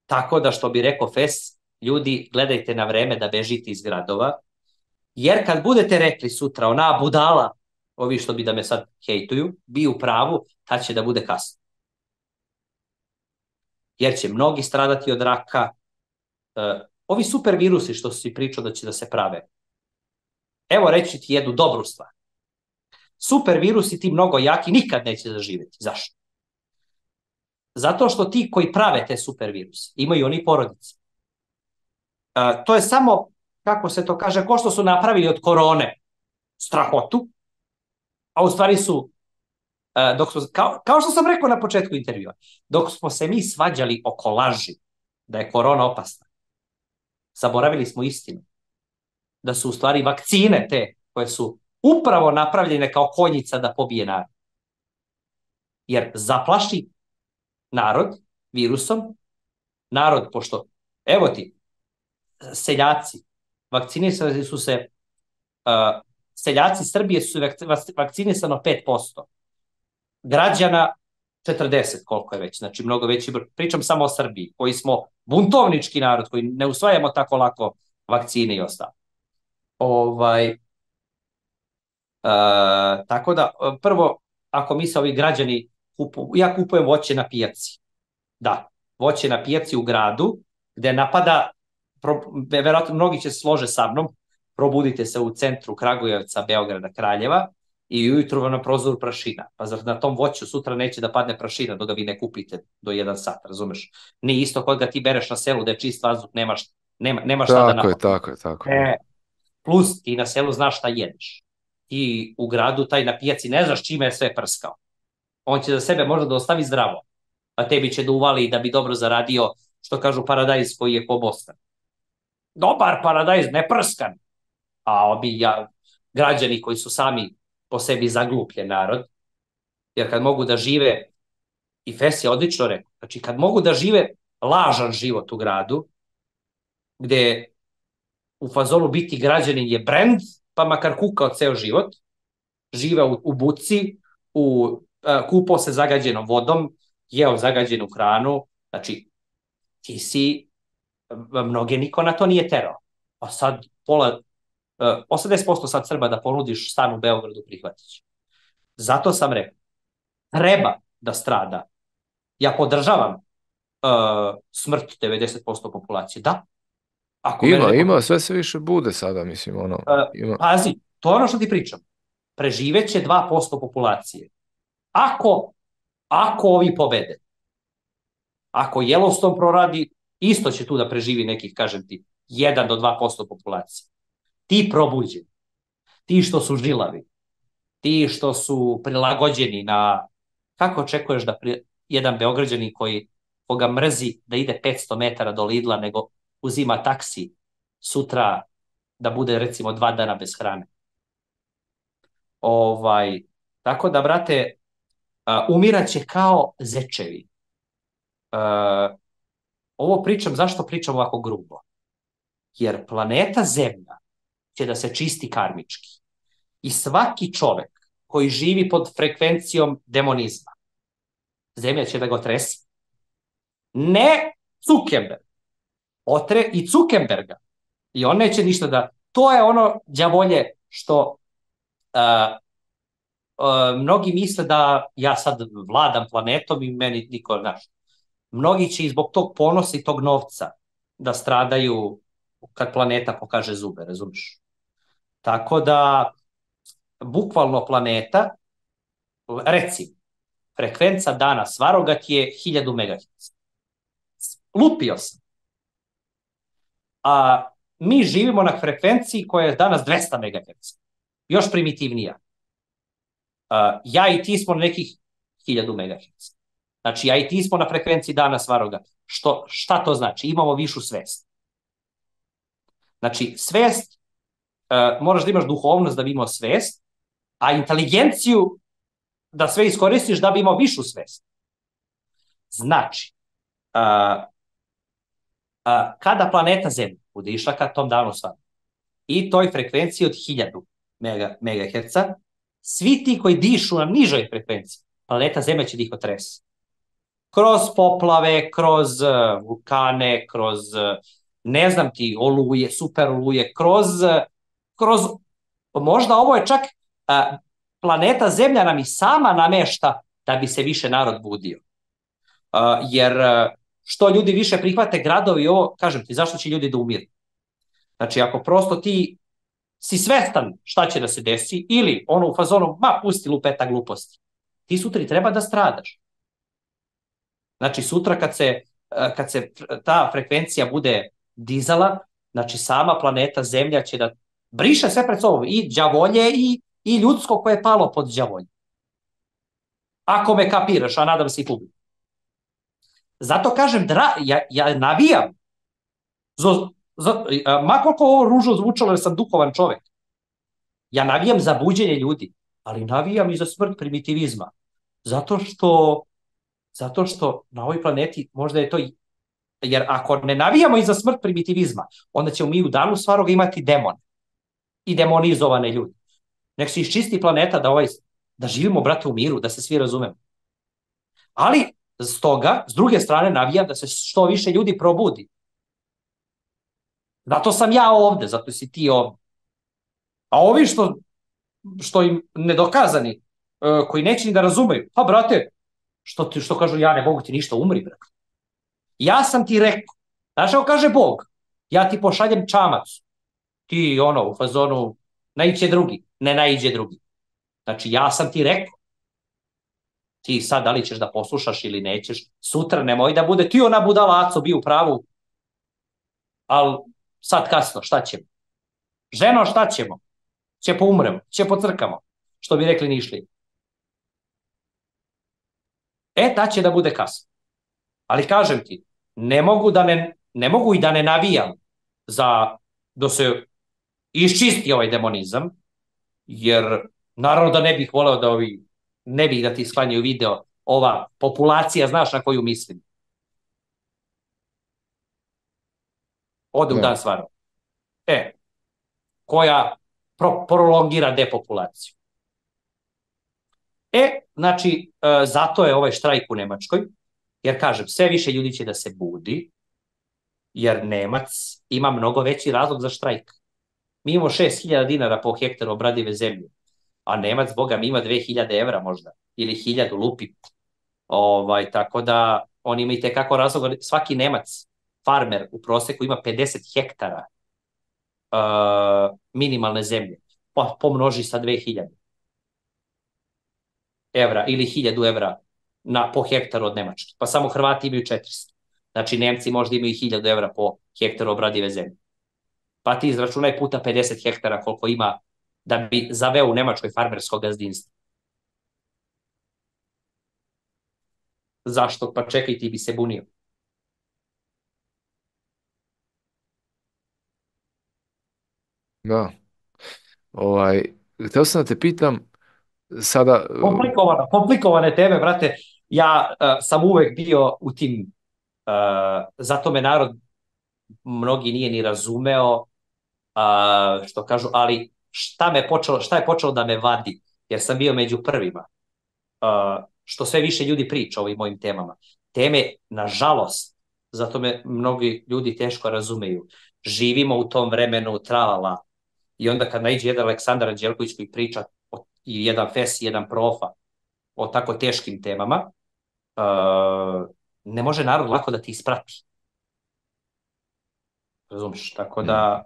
Tako da, što bi rekao Fes, ljudi, gledajte na vreme da bežite iz gradova, jer kad budete rekli sutra, ona budala, ovi što bi da me sad hejtuju, bi u pravu, tad će da bude kasno. Jer će mnogi stradati od raka. Uh, ovi super virusi što si pričao da će da se prave. Evo reći ti jednu dobru stvar. Super virusi, ti mnogo jaki, nikad neće zaživjeti. Zašto? Zato što ti koji prave te super viruse, imaju oni porodice. Uh, to je samo, kako se to kaže, ko što su napravili od korone strahotu, a u stvari su, uh, dok smo, kao, kao što sam rekao na početku intervjua, dok smo se mi svađali oko laži da je korona opasna, zaboravili smo istinu. Da su u stvari vakcine te koje su upravo napravljene kao konjica da pobije narod. Jer zaplaši narod virusom, narod, pošto, evo ti, seljaci, vakcinisali su se, uh, seljaci Srbije su vakcinisano pet posto, građana četrdeset, koliko je već, znači mnogo veći, pričam samo o Srbiji, koji smo buntovnički narod, koji ne usvajamo tako lako vakcine i ostalo. Ovaj, uh, tako da, prvo, ako mi se ovi građani kupuju, ja kupujem voće na pijaci, da, voće na pijaci u gradu, gde napada, pro, verovatno mnogi će se slože sa mnom, probudite se u centru Kragujevca, Beograda, Kraljeva, i ujutru vam na prozoru prašina. Pa zar na tom voću sutra neće da padne prašina dok ga vi ne kupite do jedan sat, razumeš? Nije isto kod ga ti bereš na selu da je čist vazduh, nemaš, nema, nemaš šta da napadne. Tako je, tako je. E, plus ti na selu znaš šta jedeš. Ti u gradu, taj na pijaci, ne znaš čime je sve prskao. On će za sebe možda da ostavi zdravo, a tebi će da uvali da bi dobro zaradio, što kažu, paradajz koji je po Bostan. Dobar paradajz, ne prskan. A obi ja, građani koji su sami po sebi zaglupljen narod, jer kad mogu da žive, i Fes je odlično rekao, znači kad mogu da žive lažan život u gradu, gde u fazonu biti građanin je brend, pa makar kukao ceo život, žive u, u buci, u, uh, kupao se zagađenom vodom, jeo zagađenu hranu, znači ti si, mnoge niko na to nije terao. A sad pola, uh, osamdeset posto sad Srba da ponudiš stan u Beogradu prihvatić. Zato sam rekao, treba da strada. Ja podržavam uh, smrt devedeset posto populacije, da. Ako ima, neko... ima, sve se više bude sada, mislim, ono. Uh, ima. Pazi, to je ono što ti pričam. preživeće dva posto populacije. Ako, ako ovi pobede, ako Yellowstone proradi, isto će tu da preživi nekih, kažem ti, jedan do dva posto populacije. Ti probuđeni, ti što su žilavi, ti što su prilagođeni na, kako očekuješ da pri, jedan Beograđanin koji koga mrzi da ide petsto metara do Lidla, nego uzima taksi sutra da bude recimo dva dana bez hrane. Ovaj, tako da, brate, uh, umiraće kao zečevi. Uh, ovo pričam, zašto pričam ovako grubo? Jer planeta Zemlja će da se čisti karmički. I svaki čovek koji živi pod frekvencijom demonizma, Zemlja će da ga otrese. Ne Zuckerberg. Otre i Zuckerberga. I on neće ništa da... To je ono đavolje što uh, uh, mnogi misle da ja sad vladam planetom i meni niko, znaš. Mnogi će i zbog tog ponosa i tog novca da stradaju kad planeta pokaže zube, razumiješ? Tako da, bukvalno planeta, recimo, frekvenca dana Svarogat je hiljadu megaherca. Lupio sam. A mi živimo na frekvenciji koja je danas dvesta megaherca. Još primitivnija. Uh, ja i ti smo na nekih hiljadu megaherca. Znači, ja i ti smo na frekvenciji dana Svarogat. Što, šta to znači? Imamo višu svest. Znači, svest, uh, moraš da imaš duhovnost da bi imao svest, a inteligenciju da sve iskoristiš da bi imao višu svest. Znači, uh, uh, kada planeta Zemlja bude išla ka tom danu Svarogat i toj frekvenciji od hiljadu megaherca, svi ti koji dišu na nižoj frekvenciji, planeta Zemlja će da ih otrese. Kroz poplave, kroz uh, vulkane, kroz, uh, ne znam ti, oluje, super oluje, kroz, uh, kroz, možda ovo je čak, uh, planeta Zemlja nam i sama namešta da bi se više narod budio. Uh, jer uh, što ljudi više prihvate gradovi, ovo, kažem ti, zašto će ljudi da umiru? Znači, ako prosto ti si svestan šta će da se desi, ili ono u fazonu, ma, pusti lupeta gluposti, ti sutra treba da stradaš. Znači, sutra kad se, kad se ta frekvencija bude dizala, znači, sama planeta Zemlja će da briše sve pred sobom, i đavolje, i, i ljudsko koje je palo pod đavolje. Ako me kapiraš, a nadam se i publiku. Zato kažem, dra, ja, ja navijam, za, za, ma koliko ovo ružno zvučalo jer sam duhovan čovek, ja navijam za buđenje ljudi, ali navijam i za smrt primitivizma. Zato što Zato što na ovoj planeti možda je to, jer ako ne navijamo i za smrt primitivizma, onda ćemo mi u danu Svaroga imati demone i demonizovane ljudi. Nek se iščisti planeta da, ovaj, da živimo, brate, u miru, da se svi razumemo. Ali, stoga, s druge strane, navijam da se što više ljudi probudi. Zato sam ja ovde, zato si ti ovde. A ovi što, što im nedokazani, koji neće ni da razumeju, pa, brate, Što, ti, što kažu, ja ne mogu ti ništa, umri, brak. Ja sam ti rekao, znaš kako kaže Bog, ja ti pošaljem čamac, ti ono, u fazonu, naiđe drugi, ne naiđe drugi. Znači, ja sam ti rekao, ti sad da li ćeš da poslušaš ili nećeš, sutra nemoj da bude, ti ona budalaco bi u pravu, ali sad kasno, šta ćemo? Ženo, šta ćemo? Će poumremo, će pocrkamo, što bi rekli Nišlije. E, ta će da bude kasno. Ali kažem ti, ne mogu, da ne, ne mogu i da ne navijam za da se iščisti ovaj demonizam, jer naravno da ne bih voleo da ovi, ne bih da ti sklanjaju video, ova populacija, znaš na koju mislim. Ode u dan Svaroga. E, koja pro, prolongira depopulaciju. E, znači, e, zato je ovaj štrajk u Nemačkoj, jer kažem, sve više ljudi će da se budi, jer Nemac ima mnogo veći razlog za štrajk. Mi imamo šest hiljada dinara po hektaru obradive zemlje, a Nemac, boga, mi ima dve hiljade evra možda, ili hiljadu lupi. Ovaj, tako da, on ima i tekako razlog, svaki Nemac, farmer u proseku ima pedeset hektara uh, minimalne zemlje, pa pomnoži sa dve hiljade. evra ili hiljadu evra na, po hektaru od Nemačke. Pa samo Hrvati imaju četiristo. Znači Nemci možda imaju hiljadu evra po hektaru obradive zemlje. Pa ti izračunaj puta pedeset hektara koliko ima da bi zaveo u Nemačkoj farmersko gazdinstvo. Zašto? Pa čekaj, ti bi se bunio. Da. Ovaj, htio sam da te pitam, sada, uh, Komplikovano, komplikovane teme, brate. Ja uh, sam uvek bio u tim, uh, zato me narod mnogi nije ni razumeo, uh, što kažu, ali šta, me počelo, šta je počelo da me vadi, jer sam bio među prvima, uh, što sve više ljudi priča o ovim mojim temama. Teme, nažalost, zato me mnogi ljudi teško razumeju. Živimo u tom vremenu tralala i onda kad naiđe jedan Aleksandar Anđelković koji priča o, i jedan Fes i jedan Profa o tako teškim temama, uh, ne može narod lako da ti isprati. Razumiješ? Tako mm, da,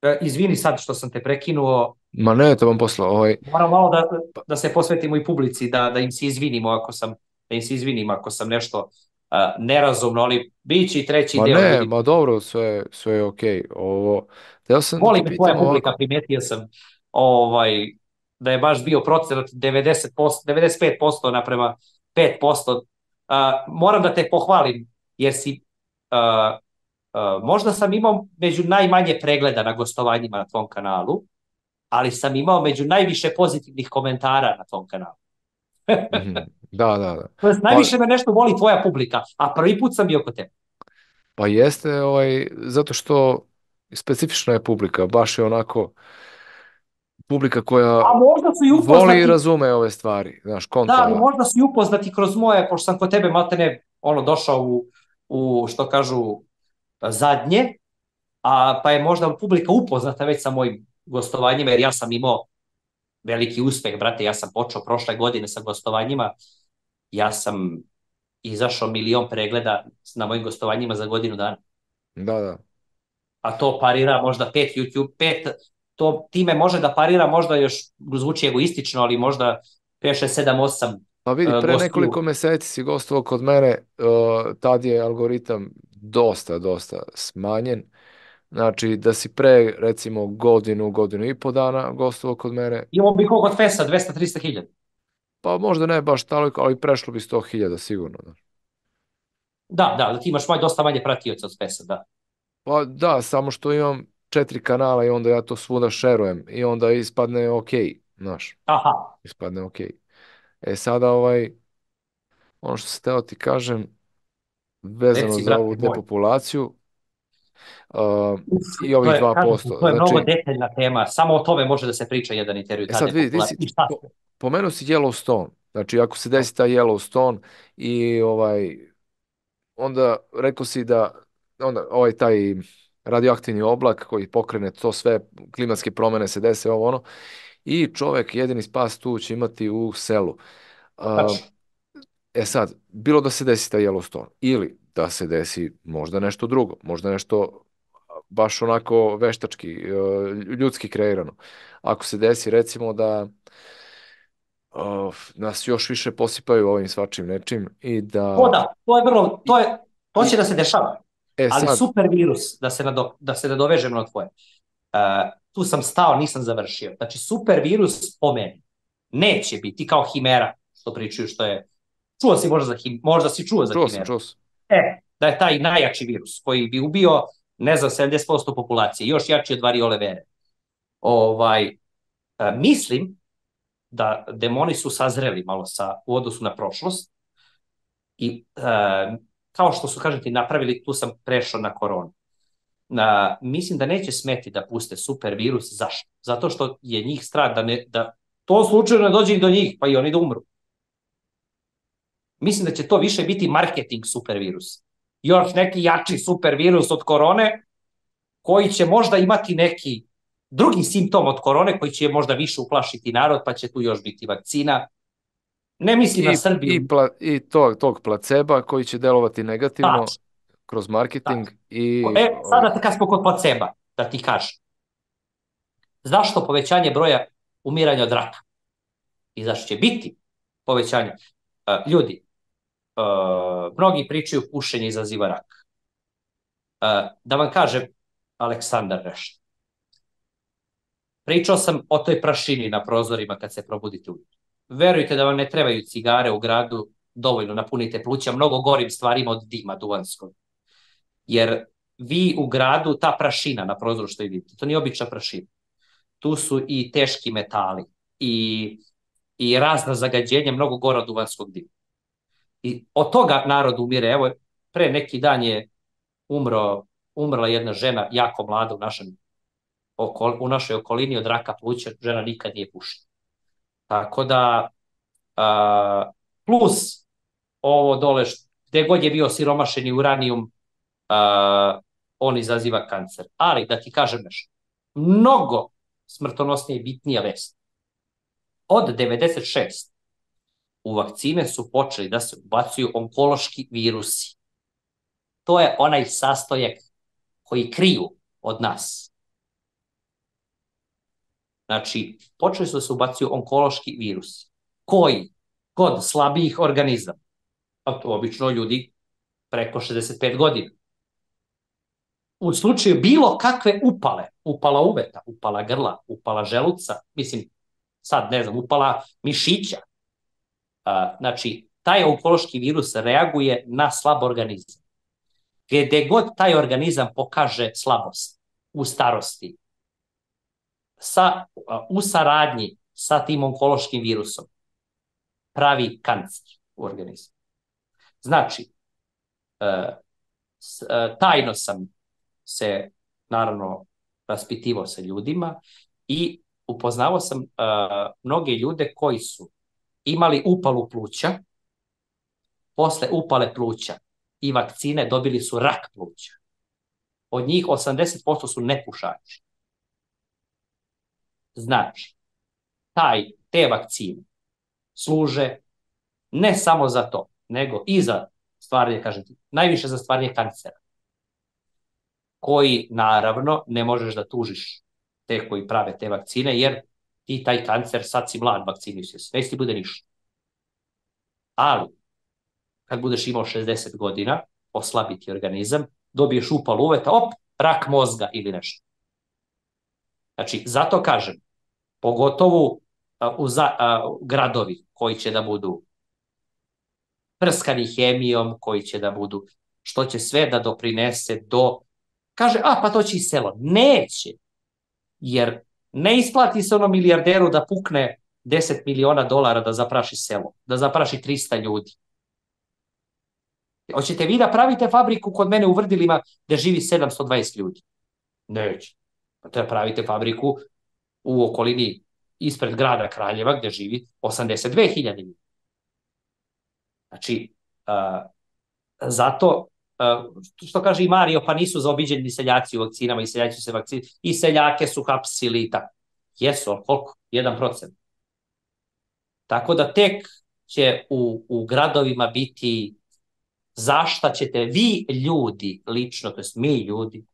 uh, izvini sad što sam te prekinuo, ma ne, to vam posla, ovaj, moram malo da, pa, da se posvetimo i publici, da, da im se izvinimo ako sam, da im se izvinim ako sam nešto uh, nerazumno, ali biće i treći ma deo, ne, ljudi. ma dobro, sve, sve je okej. Ovo, htio sam da Voli te me tvoja pitam publika, ovako, primetio sam ovaj, da je baš bio procenat devedeset posto, devedeset pet posto naprema pet posto. Uh, moram da te pohvalim, jer si, uh, uh, možda sam imao među najmanje pregleda na gostovanjima na tvom kanalu, ali sam imao među najviše pozitivnih komentara na tvom kanalu. mhm, da, da, da. To jest, Pa, najviše me nešto voli tvoja publika, a prvi put sam bio kod tebe. pa jeste, ovaj, zato što specifična je publika, baš je onako publika koja A možda su i voli i upoznati. razume ove stvari, znaš, Da, ali konta, možda su i upoznati kroz moje, pošto sam kod tebe maltene ono, došao u, u, što kažu, zadnje, a pa je možda publika upoznata već sa mojim gostovanjima, jer ja sam imao veliki uspeh, brate, ja sam počeo prošle godine sa gostovanjima, ja sam izašao milion pregleda na mojim gostovanjima za godinu dana, da, da. a to parira možda pet YouTube, pet, to time može da parira, možda još zvuči egoistično, ali možda pet, šest, sedam, osam Pa vidi, uh, pre gostiju. nekoliko meseci si gostovao kod mene, uh, tad je algoritam dosta, dosta smanjen. Znači, da si pre, recimo, godinu, godinu i po dana gostovao kod mene, Imao bi kog od Fesa, dvesta do trista hiljada. pa možda ne baš toliko, ali prešlo bi sto hiljada sigurno. Da. Da, da, da ti imaš maj, dosta manje pratioca od Fesa, da. Pa da, samo što imam četiri kanala i onda ja to svuda šerujem i onda ispadne ok, znaš, Aha, ispadne ok. E sada, ovaj, ono što se teo ti kažem, vezano reci, za ovu brate moj. depopulaciju, uh, Uf, i to ovih je, kažem ti, dva posto. to je mnogo Znači, detaljna tema. Samo o tome može da se priča jedan intervju, e ta sad vidi, ti depopulacija. si I šta po, se? pomenuo si Yellowstone. Znači, ako se desi taj Yellowstone i ovaj, onda rekao si da onda ovaj taj radioaktivni oblak koji pokrene to sve, klimatske promene se dese, ovo ono, i čovek jedini spas tu će imati u selu. A, Tačno. e sad, bilo da se desi taj Yellowstone ili da se desi možda nešto drugo, možda nešto baš onako veštački, e, ljudski kreirano. Ako se desi recimo da uh, nas još više posipaju ovim svačim nečim i To da da, to je vrlo, i, to je, to će i da se dešava. e Ali sad, super virus, da se, nado, da se nadovežem na tvoje. Uh, tu sam stao, nisam završio. Znači, super virus po meni neće biti kao himera, što pričaju, što je... Čuo si možda za him, možda si čuo za čuo sam, himeru. čuo sam. E, da je taj najjači virus koji bi ubio, ne znam, sedamdeset posto populacije, još jači od variole vere. Ovaj, uh, mislim da demoni su sazreli malo sa, u odnosu na prošlost i uh, kao što su, kažete, napravili, tu sam prešao na koronu. Na, mislim da neće smeti da puste super virus. Zašto? Zato što je njih strah da, ne, da to slučajno ne dođe i do njih, pa i oni da umru. Mislim da će to više biti marketing super virus. Još neki jači super virus od korone, koji će možda imati neki drugi simptom od korone, koji će možda više uplašiti narod, pa će tu još biti vakcina. Ne mislim na I, Srbiju. i, pla, i to, tog placeba koji će delovati negativno Tačno, kroz marketing tačno. i E, ovaj, sada kad smo kod placeba, da ti kažem, zašto povećanje broja umiranja od raka? i zašto će biti povećanja. Uh, ljudi, uh, mnogi pričaju pušenje izaziva rak. Uh, da vam kažem, Aleksandar nešto. Pričao sam o toj prašini na prozorima kad se probudite ujutro. Verujte da vam ne trebaju cigare u gradu, dovoljno napunite pluća mnogo gorim stvarima od dima duvanskog. Jer vi u gradu, ta prašina na prozoru što vidite, to nije obična prašina. Tu su i teški metali i, i razna zagađenja, mnogo gora od duvanskog dima. I od toga narod umire. Evo, pre neki dan je umro, umrla jedna žena, jako mlada u, našem, u našoj okolini od raka pluća, žena nikad nije pušila. Tako da, a, plus ovo dole, gde god je bio siromašeni uranijum, a, on izaziva kancer. Ali, da ti kažem nešto, mnogo smrtonosnije i bitnija vest. Od devedeset šest u vakcine su počeli da se ubacuju onkološki virusi. To je onaj sastojak koji kriju od nas. Znači, počeli su da se ubacuju onkološki virusi, koji kod slabijih organizama, a to obično ljudi preko šezdeset pet godina, u slučaju bilo kakve upale, upala uveta, upala grla, upala želuca, mislim, sad ne znam, upala mišića, a, znači, taj onkološki virus reaguje na slab organizam. Gde god taj organizam pokaže slabost u starosti, sa, u saradnji sa tim onkološkim virusom, pravi kancer u organizmu. Znači, tajno sam se, naravno, raspitivao sa ljudima i upoznao sam mnoge ljude koji su imali upalu pluća, posle upale pluća i vakcine dobili su rak pluća. Od njih osamdeset posto su nepušači. Znači, taj, te vakcine služe ne samo za to, nego i za stvaranje, kažem ti, najviše za stvaranje kancera, koji, naravno, ne možeš da tužiš te koji prave te vakcine, jer ti taj kancer, sad si mlad, vakciniš se, neće ti bude ništa. Ali, kad budeš imao šezdeset godina, oslabiti organizam, dobiješ upal uveta, op, rak mozga ili nešto. Znači, zato kažem, pogotovo u za, a, gradovi koji će da budu prskani hemijom, koji će da budu, što će sve da doprinese do, kaže, a pa to će i selo. Neće, jer ne isplati se ono milijarderu da pukne deset miliona dolara da zapraši selo, da zapraši trista ljudi. Hoćete vi da pravite fabriku kod mene u Vrdilima gde živi sedamsto dvadeset ljudi? Neće. Da pravite fabriku u okolini ispred grada Kraljeva gde živi osamdeset dve hiljade ljudi. Znači, uh, zato, uh, što kaže i Mario, pa nisu zaobiđeni seljaci u vakcinama i seljaci su se vakcini, i seljake su hapsili i tako. Jesu, ali koliko? jedan procent. Tako da tek će u, u gradovima biti zašta ćete vi ljudi, lično, to jest mi ljudi,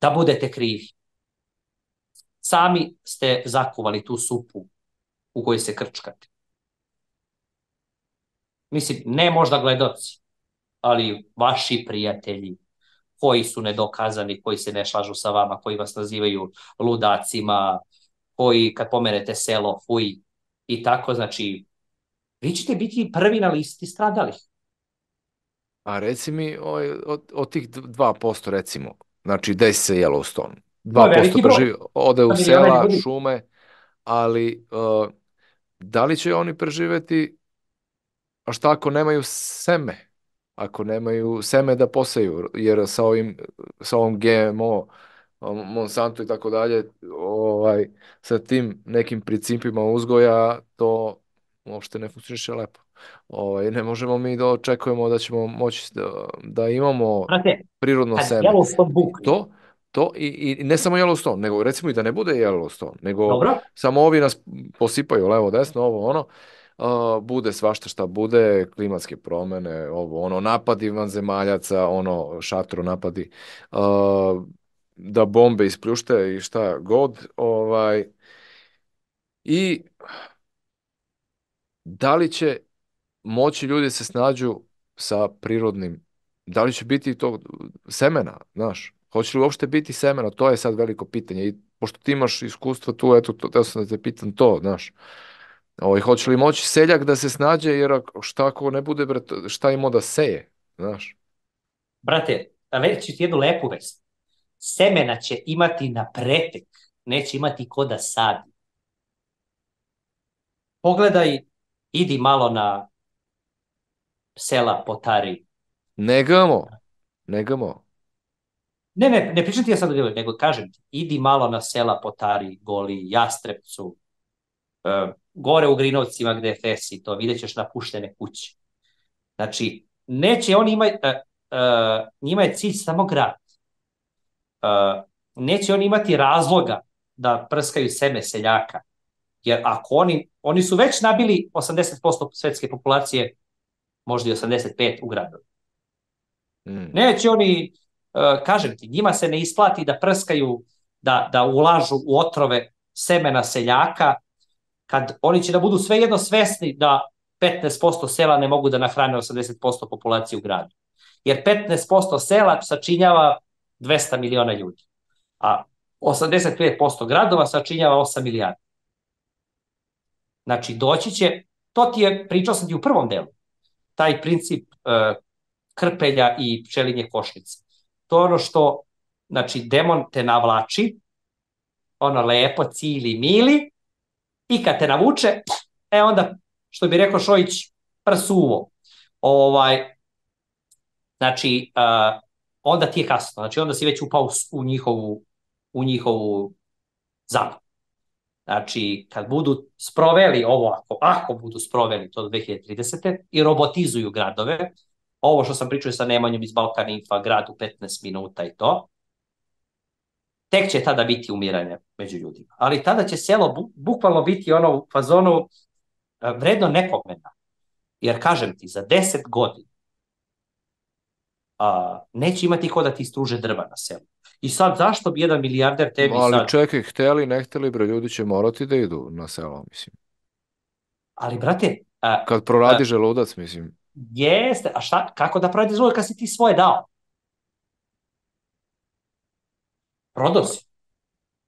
da budete krivi. Sami ste zakuvali tu supu u kojoj se krčkate. Mislim, ne možda gledoci, ali vaši prijatelji koji su nedokazani, koji se ne slažu sa vama, koji vas nazivaju ludacima, koji kad pomenete selo, fuj, i tako, znači, vi ćete biti prvi na listi stradalih. A reci mi, od, od tih dva posto recimo, znači desi se Yellowstone, dva posto preživi, ode u sela, šume, ali uh, da li će oni preživeti, a šta ako nemaju seme, ako nemaju seme da poseju, jer sa ovim, sa ovom G M O, Monsanto i tako dalje, ovaj, sa tim nekim principima uzgoja, to uopšte ne funkcioniše lepo. Ovaj, ne možemo mi da očekujemo da ćemo moći da, da imamo Znate, prirodno seme. To, to i, i ne samo Yellowstone, nego recimo i da ne bude Yellowstone, nego Dobro. Samo ovi nas posipaju levo, desno, ovo, ono, uh, bude svašta šta bude, klimatske promene, ovo, ono, napadi vanzemaljaca, ono, šatro napadi, uh, da bombe ispljušte i šta god, ovaj, i da li će moći ljudi se snađu sa prirodnim, da li će biti to semena, znaš, hoće li uopšte biti semena, to je sad veliko pitanje i pošto ti imaš iskustvo tu, eto, to, teo sam da te pitam to, znaš, ovaj, hoće li moći seljak da se snađe, jer ako- šta ako ne bude, bre, to- šta ima da seje, znaš, Brate, reći ti jednu lepu vest. Semena će imati na pretek, neće imati ko da sadi. Pogledaj, idi malo na sela Potari. ne gamo, ne gamo, Ne, ne, ne pričam ti ja sad o divlju, nego kažem ti, idi malo na sela Potari, Goli, Jastrepcu, e, gore u Grinovcima gde je Fesi, to vidjet ćeš napuštene kuće. Znači, neće oni imati, e, e, njima je cilj samo grad. E, neće oni imati razloga da prskaju seme seljaka, jer ako oni, oni su već nabili osamdeset posto svetske populacije, možda i osamdeset pet u gradu. mm, Neće oni, uh, kažem ti, njima se ne isplati da prskaju, da, da ulažu u otrove semena seljaka, kad oni će da budu svejedno svesni da petnaest posto sela ne mogu da nahrane osamdeset posto populacije u gradu. Jer petnaest posto sela sačinjava dvesta miliona ljudi, a osamdeset pet posto gradova sačinjava osam milijardi. Znači, doći će, to ti je, pričao sam ti u prvom delu, taj princip uh, krpelja i pčelinje košnice. To je ono što, znači, demon te navlači, ono lepo, cili, mili, i kad te navuče, e onda, što bi rekao Šojić, prsuvo. Ovaj, znači, uh, onda ti je kasno, znači onda si već upao u njihovu, u njihovu zamku. Znači, kad budu sproveli ovo, ako, ako budu sproveli to do dve hiljade tridesete. i robotizuju gradove, ovo što sam pričao sa Nemanjom iz Balkan Infa, grad u petnaest minuta i to, tek će tada biti umiranje među ljudima. Ali tada će selo bu, bukvalno biti ono u fazonu e, vredno nepomena. Jer kažem ti, za deset godina a, neće imati ko da ti struže drva na selu. I sad, zašto bi jedan milijarder tebi ali sad... čekaj, hteli, ne hteli, bre, ljudi će morati da idu na selo, mislim, Ali, brate, a, kad a, proradi želudac, mislim, jeste, a šta, kako da proradi želudac kad si ti svoje dao? Prodao si. pa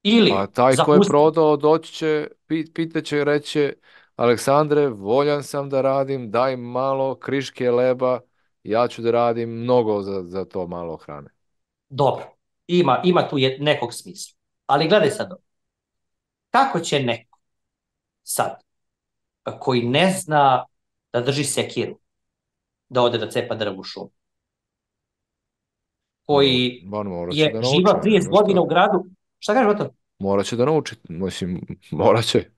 Ili taj ko je zapusti. prodao doći će, pit, pitaće i reće, Aleksandre, voljan sam da radim, daj malo kriške leba, ja ću da radim mnogo za, za to malo hrane. Dobro, ima, ima tu je nekog smisla. Ali gledaj sad ovo. Kako će neko sad, koji ne zna da drži sekiru, da ode da cepa drvo u šumu, Mo, koji man, morat će je da nauči, živao trideset nema godina šta. u gradu, šta kažeš o to? Morat će da nauči, mislim, morat će,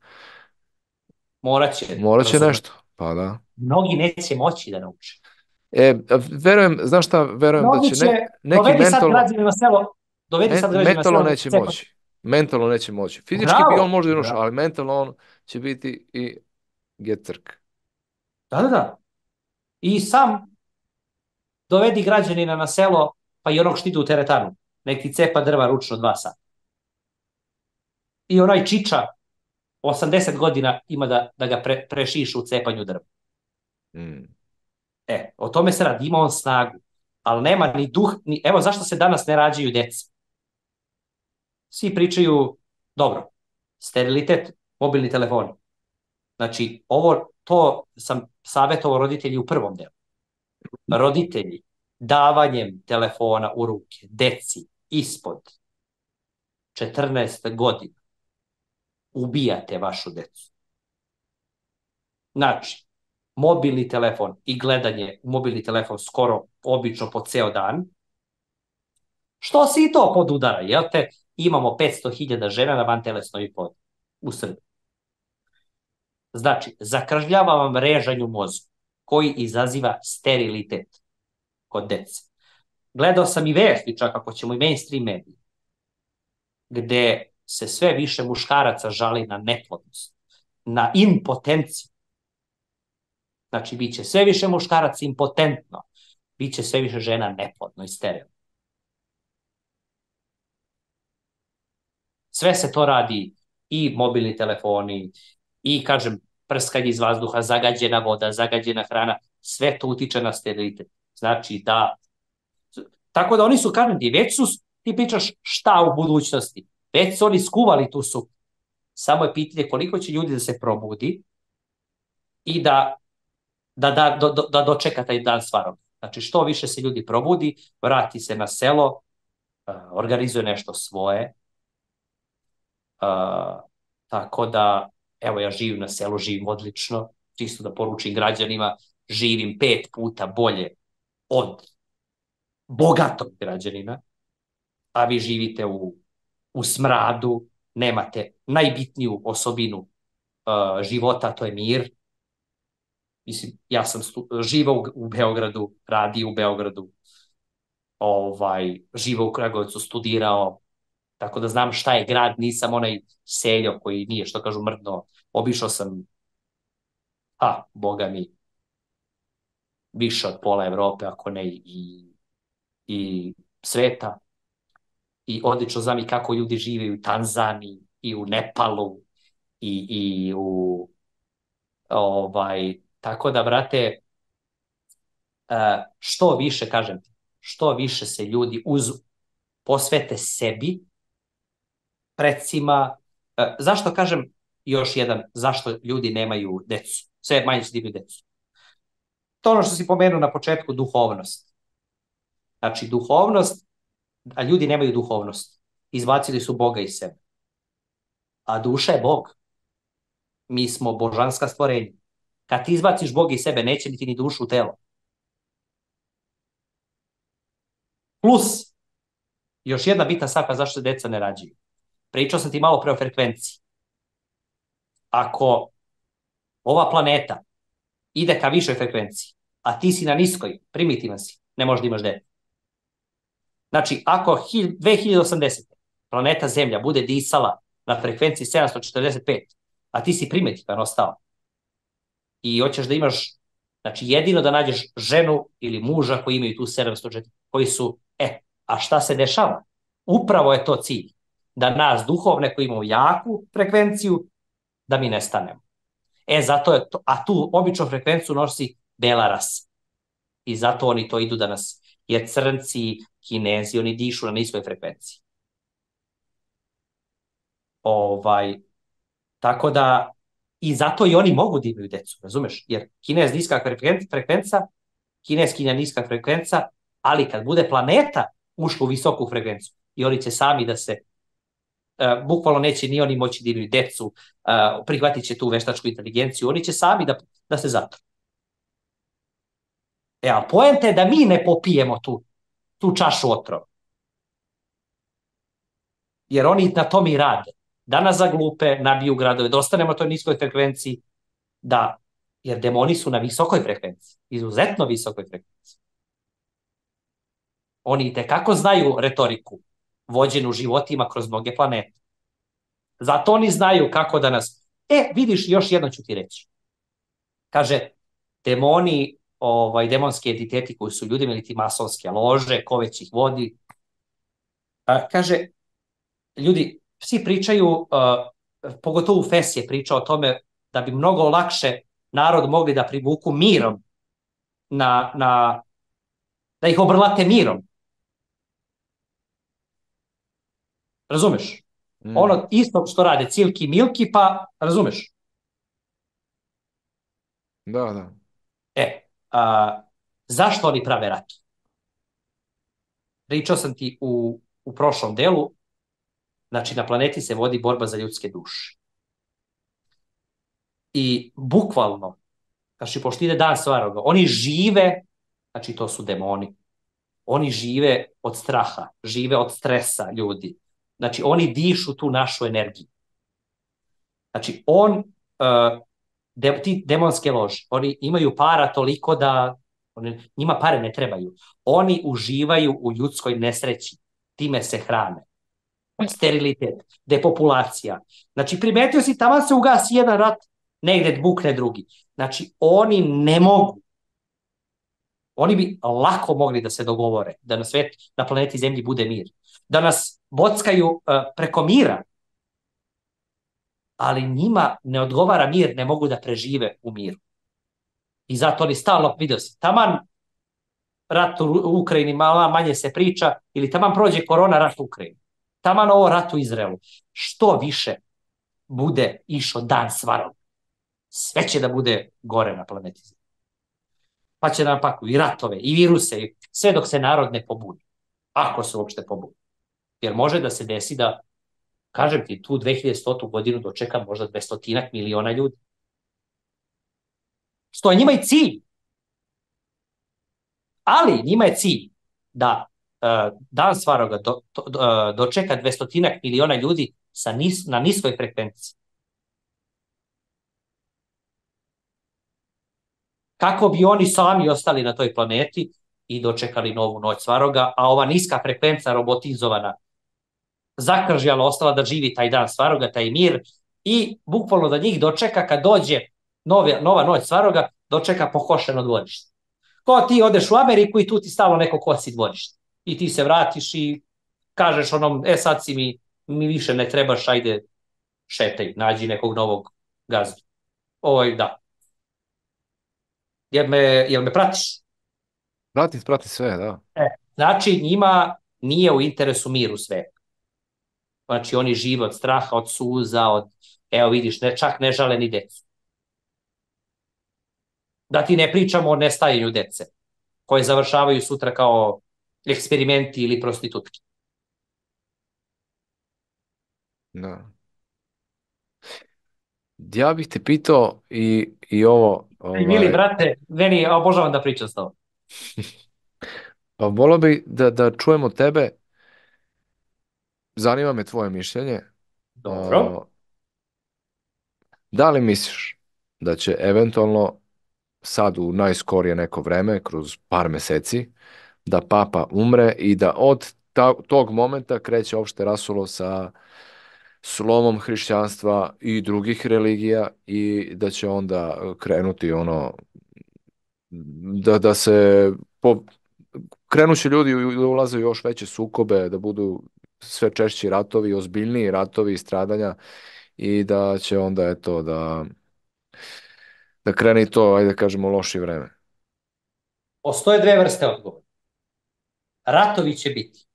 Moraće, morat će razumem. nešto, pa da. Mnogi neće moći da nauče. E, verujem, znaš šta, verujem da Mnogi će će, ne, neki dovedi sad mentalno, građane na selo, dovedi men, sad građane na mentalno selo da neće cepa. moći. Mentalno neće moći. Fizički bi on Bravo, možda i ušao, bravo. ali mentalno on će biti i getrk. Da, da, da. I sam dovedi građanina na selo, pa i onog što ide u teretanu. Nek ti cepa drva ručno dva sata. I onaj čiča osamdeset godina ima da, da ga pre, prešiša u cepanju drva. Mm. E, o tome se radi, ima on snagu, ali nema ni duh, ni, evo zašto se danas ne rađaju deca. Svi pričaju, dobro, sterilitet, mobilni telefoni. Znači, ovo, to sam savjetovao roditelji u prvom delu. Roditelji, davanjem telefona u ruke, deci, ispod četrnaest godina, ubijate vašu decu. Znači, mobilni telefon i gledanje u mobilni telefon skoro obično po ceo dan, što se i to podudara, jel te? Imamo petsto hiljada žena na vantelesnoj oplodnji u Srbiji. Znači, zakržljava vam režanju mozgu, koji izaziva sterilitet kod dece. Gledao sam i vesti, čak ako ćemo i mainstream mediji, gde se sve više muškaraca žali na neplodnost, na impotenciju. Znači, bit će sve više muškaraca impotentno, bit će sve više žena neplodno i sterilno. Sve se to radi, i mobilni telefoni, i, kažem, prskanje iz vazduha, zagađena voda, zagađena hrana, sve to utiče na sterilitet. Znači da, tako da oni su, kažem ti, već su, ti pričaš šta u budućnosti, već su oni skuvali tu su. Samo je pitanje koliko će ljudi da se probudi i da, da, da, da, da dočeka taj dan stvarno. Znači što više se ljudi probudi, vrati se na selo, organizuje nešto svoje. Uh, tako da, evo ja živim na selu, živim odlično, čisto da poručim građanima, živim pet puta bolje od bogatog građanina, a vi živite u, u smradu, nemate najbitniju osobinu uh, života, to je mir. Mislim, ja sam živao u, u Beogradu, radio u Beogradu, ovaj, živao u Kragujevcu, studirao, tako da znam šta je grad, nisam onaj seljo koji nije, što kažu, mrdno. Obišao sam, a, boga mi, više od pola Evrope, ako ne i, i sveta. I odlično znam i kako ljudi žive u Tanzaniji, i u Nepalu, i, i u, ovaj, tako da, brate, što više, kažem ti, što više se ljudi uz, posvete sebi, precima, zašto kažem još jedan, zašto ljudi nemaju decu, sve manje se imaju decu. To ono što si pomenuo na početku, duhovnost. Znači, duhovnost, a ljudi nemaju duhovnost. Izbacili su Boga iz sebe. A duša je Bog. Mi smo božanska stvorenja. Kad ti izbaciš Boga iz sebe, neće biti ni dušu u telo. Plus, još jedna bitna stavka zašto se deca ne rađaju. Pričao sam ti malo pre o frekvenciji. Ako ova planeta ide ka višoj frekvenciji, a ti si na niskoj, primitivan si, ne možeš da imaš dete. Znači, ako dve hiljade osamdesete. planeta Zemlja bude disala na frekvenciji sedamsto četrdeset pet, a ti si primitivan ostao i hoćeš da imaš, znači jedino da nađeš ženu ili muža koji imaju tu sedamsto četrdeset, koji su, e, a šta se dešava? Upravo je to cilj, da nas duhovne koji imamo jaku frekvenciju, da mi nestanemo. E, zato je to, a tu običnu frekvenciju nosi bela rasa. I zato oni to idu da nas, jer crnci, Kinezi, oni dišu na niskoj frekvenciji. Ovaj, tako da, i zato i oni mogu da imaju decu, razumeš? Jer Kinez niska frekvenca, Kineskinja niska frekvenca, ali kad bude planeta ušla u visoku frekvenciju, i oni će sami da se, uh, bukvalno neće ni oni moći da imaju decu, uh, prihvatit će tu veštačku inteligenciju, oni će sami da, da se zatru. E, ali poenta je da mi ne popijemo tu, tu čašu otrova. Jer oni na to mi rade. Da nas zaglupe, nabiju gradove, da ostanemo na toj niskoj frekvenciji, da, jer demoni su na visokoj frekvenciji, izuzetno visokoj frekvenciji. Oni itekako znaju retoriku vođenu životima kroz mnoge planete. Zato oni znaju kako da nas... E, vidiš, još jedno ću ti reći. Kaže, demoni, ovaj, demonski entiteti koji su ljudima ili ti masonske lože, ko već ih vodi. A, kaže, ljudi, svi pričaju, uh, pogotovo Fes je pričao o tome da bi mnogo lakše narod mogli da privuku mirom, na, na, da ih obrlate mirom. Razumeš? Mm. Ono isto što rade Cilki Milki, pa razumeš? Da, da. E, a, zašto oni prave rat? Pričao sam ti u, u prošlom delu, znači na planeti se vodi borba za ljudske duše. I bukvalno, znači pošto ide dan stvaroga, oni žive, znači to su demoni, oni žive od straha, žive od stresa ljudi. Znači oni dišu tu našu energiju. Znači on, uh, de, ti demonske lože, oni imaju para toliko da, oni, njima pare ne trebaju. Oni uživaju u ljudskoj nesreći, time se hrane. Sterilitet, depopulacija. Znači primetio si, tamo se ugasi jedan rat, negde bukne drugi. Znači oni ne mogu. Oni bi lako mogli da se dogovore, da na svet, na planeti Zemlji bude mir. Da nas bockaju uh, preko mira. ali njima ne odgovara mir, ne mogu da prežive u miru. I zato oni stalno, vidio si, taman rat u Ukrajini malo manje se priča, ili taman prođe korona, rat u Ukrajini. Taman ovo rat u Izraelu. Što više bude išao dan svarog, sve će da bude gore na planeti. Pa će nam pakuju i ratove, i viruse, i sve dok se narod ne pobudi. Ako se uopšte pobudi. Jer može da se desi da, kažem ti, tu dve hiljade stotu godinu dočeka možda dvestotinak miliona ljudi. Što je njima i cilj. Ali njima je cilj da uh, dan svaroga do, do, do, dočeka dvestotinak miliona ljudi sa nis, na niskoj frekvenciji. Kako bi oni sami ostali na toj planeti i dočekali novu noć svaroga, a ova niska frekvenca robotizovana zakržjala ostala da živi taj dan svaroga, taj mir, i bukvalno da njih dočeka kad dođe nove, nova noć svaroga, dočeka pokošeno dvorište. Ko ti odeš u Ameriku i tu ti stalo neko kosi dvorište. I ti se vratiš i kažeš onom, e sad si mi, mi više ne trebaš, ajde šetaj, nađi nekog novog gazdu. Ovo je, da. Jel me, jel me pratiš? Pratim, pratim sve, da. E, znači, njima nije u interesu mir u svetu. Znači, oni žive od straha, od suza, od, evo vidiš, ne, čak ne žale ni decu. Da ti ne pričamo o nestajanju dece, koje završavaju sutra kao eksperimenti ili prostitutki. Da. Ja bih te pitao i, i ovo... Ovaj... Mili, Ovaj, brate, meni obožavam da pričam s tobom. pa volio bih da, da čujemo tebe. Zanima me tvoje mišljenje. Dobro. Uh, da li misliš da će eventualno sad u najskorije neko vreme, kroz par meseci, da papa umre i da od ta, tog momenta kreće opšte rasulo sa slomom hrišćanstva i drugih religija i da će onda krenuti ono da, da se po, krenuće ljudi da ulaze u još veće sukobe, da budu sve češći ratovi, ozbiljniji ratovi i stradanja i da će onda eto da da krene i to, ajde da kažemo, loše vreme. Postoje dve vrste odgovora. Ratovi će biti,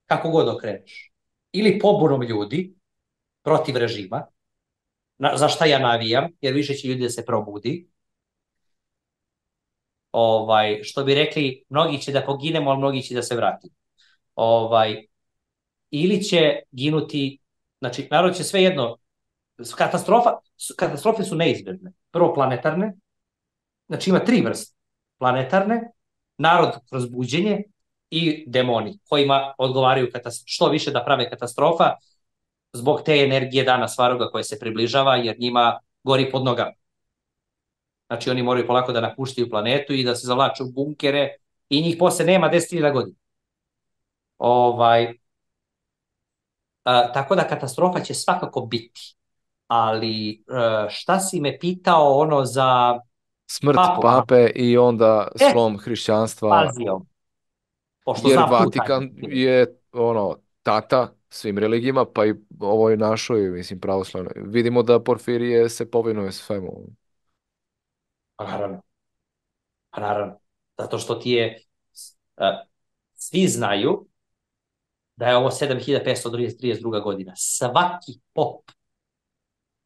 kako god okreneš, ili pobunom ljudi protiv režima, na, za šta ja navijam, jer više će ljudi da se probudi. Ovaj, što bi rekli, mnogi će da poginemo, ali mnogi će da se vrati. Ovaj, ili će ginuti, znači, narod će sve jedno, katastrofa, katastrofe su neizbježne. Prvo planetarne, znači ima tri vrste. Planetarne, narod kroz buđenje i demoni, kojima odgovaraju što više da prave katastrofa zbog te energije dana svaroga koje se približava, jer njima gori pod nogama. Znači oni moraju polako da napuštaju planetu i da se zavlaču u bunkere i njih posle nema deset hiljada godina. Ovaj, a, tako da katastrofa će svakako biti. Ali a, šta si me pitao ono za Smrt papu? pape i onda E, slom hrišćanstva. pazio. Pošto Jer znam Vatikan je ono tata svim religijama, pa i ovoj našoj, mislim, pravoslavnoj. Vidimo da Porfirije se povinuje svemu. Pa naravno. Pa naravno. Zato što ti je, uh, svi znaju da je ovo sedam hiljada petsto trideset druga godina. Svaki pop,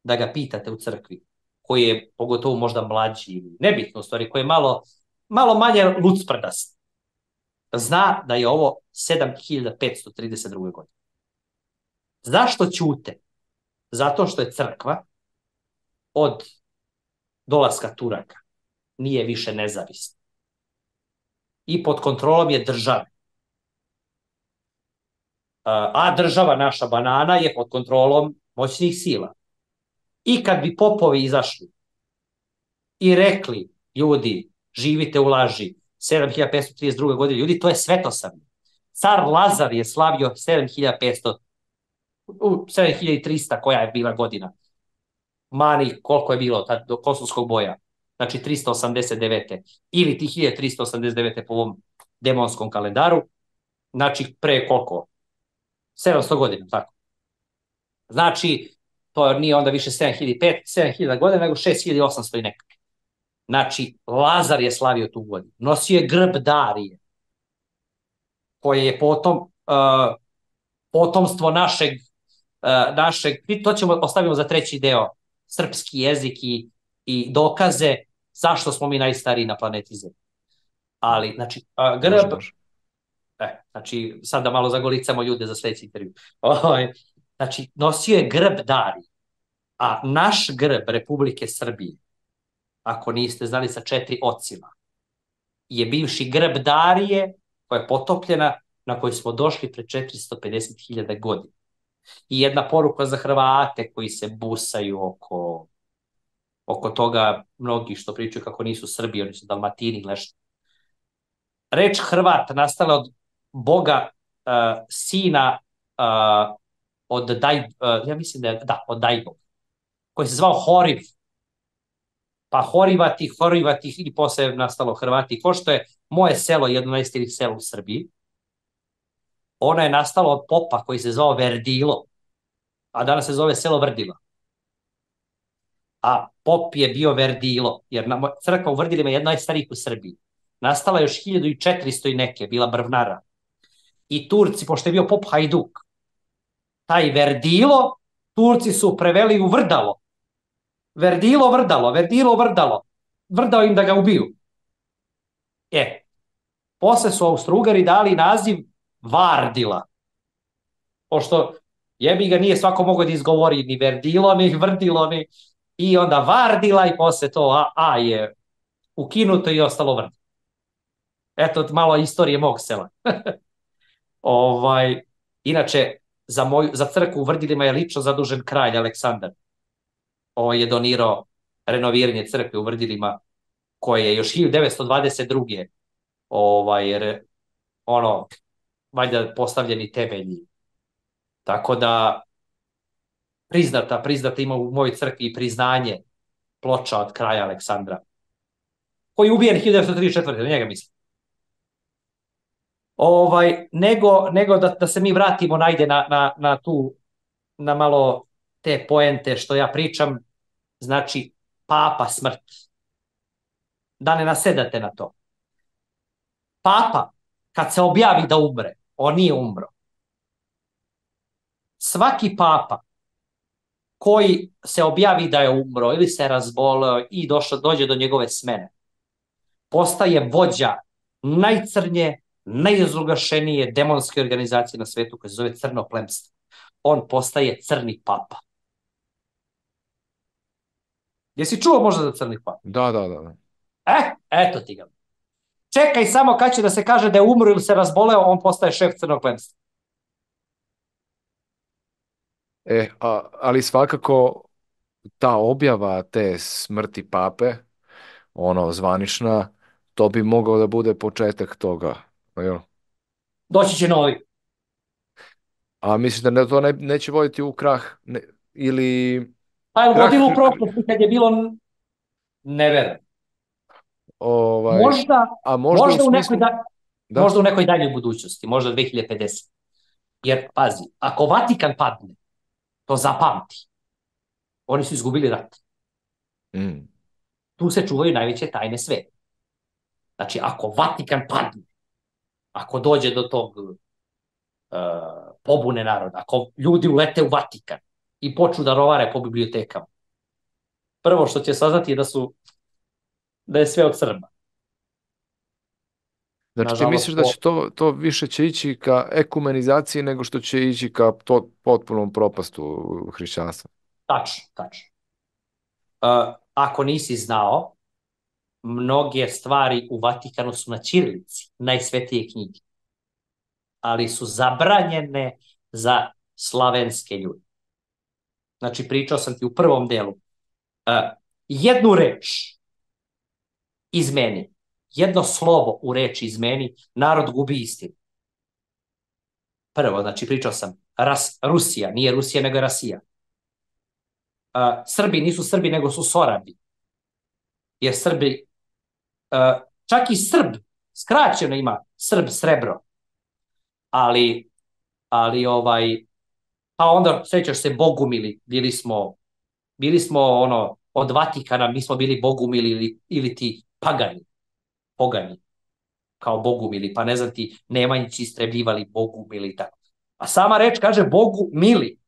da ga pitate u crkvi, koji je pogotovo možda mlađi ili nebitno u stvari, koji je malo, malo manje lucprdast, zna da je ovo sedam hiljada petsto trideset druga godina. Zašto ćute? Zato što je crkva od dolaska Turaka nije više nezavisna. I pod kontrolom je države. A država, naša banana, je pod kontrolom moćnih sila. I kad bi popovi izašli i rekli, ljudi, živite u laži, sedam hiljada petsto trideset druga godina, ljudi, to je svetosavlje. Car Lazar je slavio sedam hiljada petsto, sedam hiljada trista koja je bila godina. Mani, koliko je bilo tad, do kosovskog boja. Znači trista osamdeset devete ili ti hiljada trista osamdeset devete po ovom demonskom kalendaru. Znači pre koliko? sedamsto godina, tako. Znači, to nije onda više sedam hiljada godina, nego šest hiljada osamsto i nekako. Znači, Lazar je slavio tu godinu. Nosio je grb Darije, koje je potom uh, potomstvo našeg, uh, našeg, to ćemo ostavimo za treći deo, srpski jezik i, i dokaze zašto smo mi najstariji na planeti Zemlji. Ali, znači, uh, grb... Može, može. E, znači, sad da malo zagolicamo ljude za sljedeći intervju. Znači, nosio je grb Darije, a naš grb Republike Srbije, ako niste znali, sa četiri ocima, je bivši grb Darije, koja je potopljena, na kojoj smo došli pre četiristo pedeset hiljada godina. I jedna poruka za Hrvate koji se busaju oko, oko toga, mnogi što pričaju kako nisu Srbi, oni su Dalmatini, nešto. Reč Hrvat nastala od Boga, uh, sina uh, od Daj, uh, ja mislim da je, da, od Dajbog, koji se zvao Horiv, pa Horivati, Horivati i posle nastalo Hrvati. Ko što je moje selo, jedno najstarijih sela u Srbiji, ono je nastalo od popa koji se zvao Verdilo, a danas se zove selo Vrdila. A pop je bio Verdilo, jer crkva u Vrdilima je jedna najstarijih u Srbiji. Nastala je još hiljadu četiristo i neke, bila brvnara. I Turci, pošto je bio pop Hajduk, taj Verdilo, Turci su preveli u Vrdalo. Verdilo, Vrdalo, Verdilo, Vrdalo. Vrdao im da ga ubiju. E, posle su Austro-Ugari dali naziv Vardila. Pošto jebi ga nije svako mogao da izgovori ni Verdilo, ni Vrdilo, ni... I onda Vardila i posle to A, A je ukinuto i ostalo Vrdilo. Eto, malo istorije mog sela. ovaj, inače, za, moju, za crkvu u Vrdilima je lično zadužen kralj Aleksandar. On je donirao renoviranje crkve u Vrdilima, koje je još hiljadu devetsto dvadeset druge ovaj, jer ono, valjda postavljeni temelji. Tako da, priznata, priznata ima u mojoj crkvi i priznanje ploča od kraja Aleksandra, koji je ubijen hiljadu devetsto trideset četvrte. Na njega mislim. Ovaj, nego nego da, da se mi vratimo najde na, na, na tu, na malo te poente što ja pričam, znači papa smrt. Da ne nasedate na to. Papa, kad se objavi da umre, on nije umro. Svaki papa koji se objavi da je umro ili se razboleo i došlo, dođe do njegove smene, postaje vođa najcrnje, najozrugašenije demonske organizacije na svetu koja se zove Crno plemstvo. On postaje crni papa. Jesi čuo možda za crni papa? Da, da, da. E, eto ti ga. Čekaj samo kad će da se kaže da je umro ili se razboleo, on postaje šef crnog plemstva. E, a, ali svakako ta objava te smrti pape, ono, zvanična, to bi mogao da bude početak toga. Jel? Doći će novi. A misliš da ne, to ne, neće voditi u krah? Ne, ili... Pa je vodilo u prošlosti kad je bilo... Ne verujem. Ovaj, možda, a možda, možda, u, u nekoj smislu... da, da? možda u nekoj daljoj budućnosti, možda dve hiljade pedeset. Jer, pazi, ako Vatikan padne, to zapamti. Oni su izgubili rat. Mm. Tu se čuvaju najveće tajne sveta. Znači, ako Vatikan padne, ako dođe do tog uh, pobune naroda, ako ljudi ulete u Vatikan i počnu da rovare po bibliotekama, prvo što će saznati je da su da je sve od Srba. Znači Nažalost, ti misliš da će to, to više će ići ka ekumenizaciji nego što će ići ka to, potpunom propastu hrišćanstva? Tačno, tačno. Uh, ako nisi znao, mnoge stvari u Vatikanu su na ćirilici, najsvetije knjige, ali su zabranjene za slavenske ljude. Znači, pričao sam ti u prvom delu. Uh, jednu reč izmeni, jedno slovo u reči izmeni, narod gubi istinu. Prvo, znači, pričao sam, ras, Rusija, nije Rusija, nego je Rasija. Uh, Srbi nisu Srbi, nego su Sorabi. Jer Srbi, uh, čak i Srb, skraćeno ima Srb, srebro. Ali, ali ovaj, Pa onda, sjećaš se, bogumili, bili smo, bili smo ono, od Vatikana, mi smo bili bogumili ili, ili ti pagani, pogani, kao bogumili, pa ne znam ti, Nemanjići istrebljivali bogumili i tako. A sama reč kaže Bogu mili.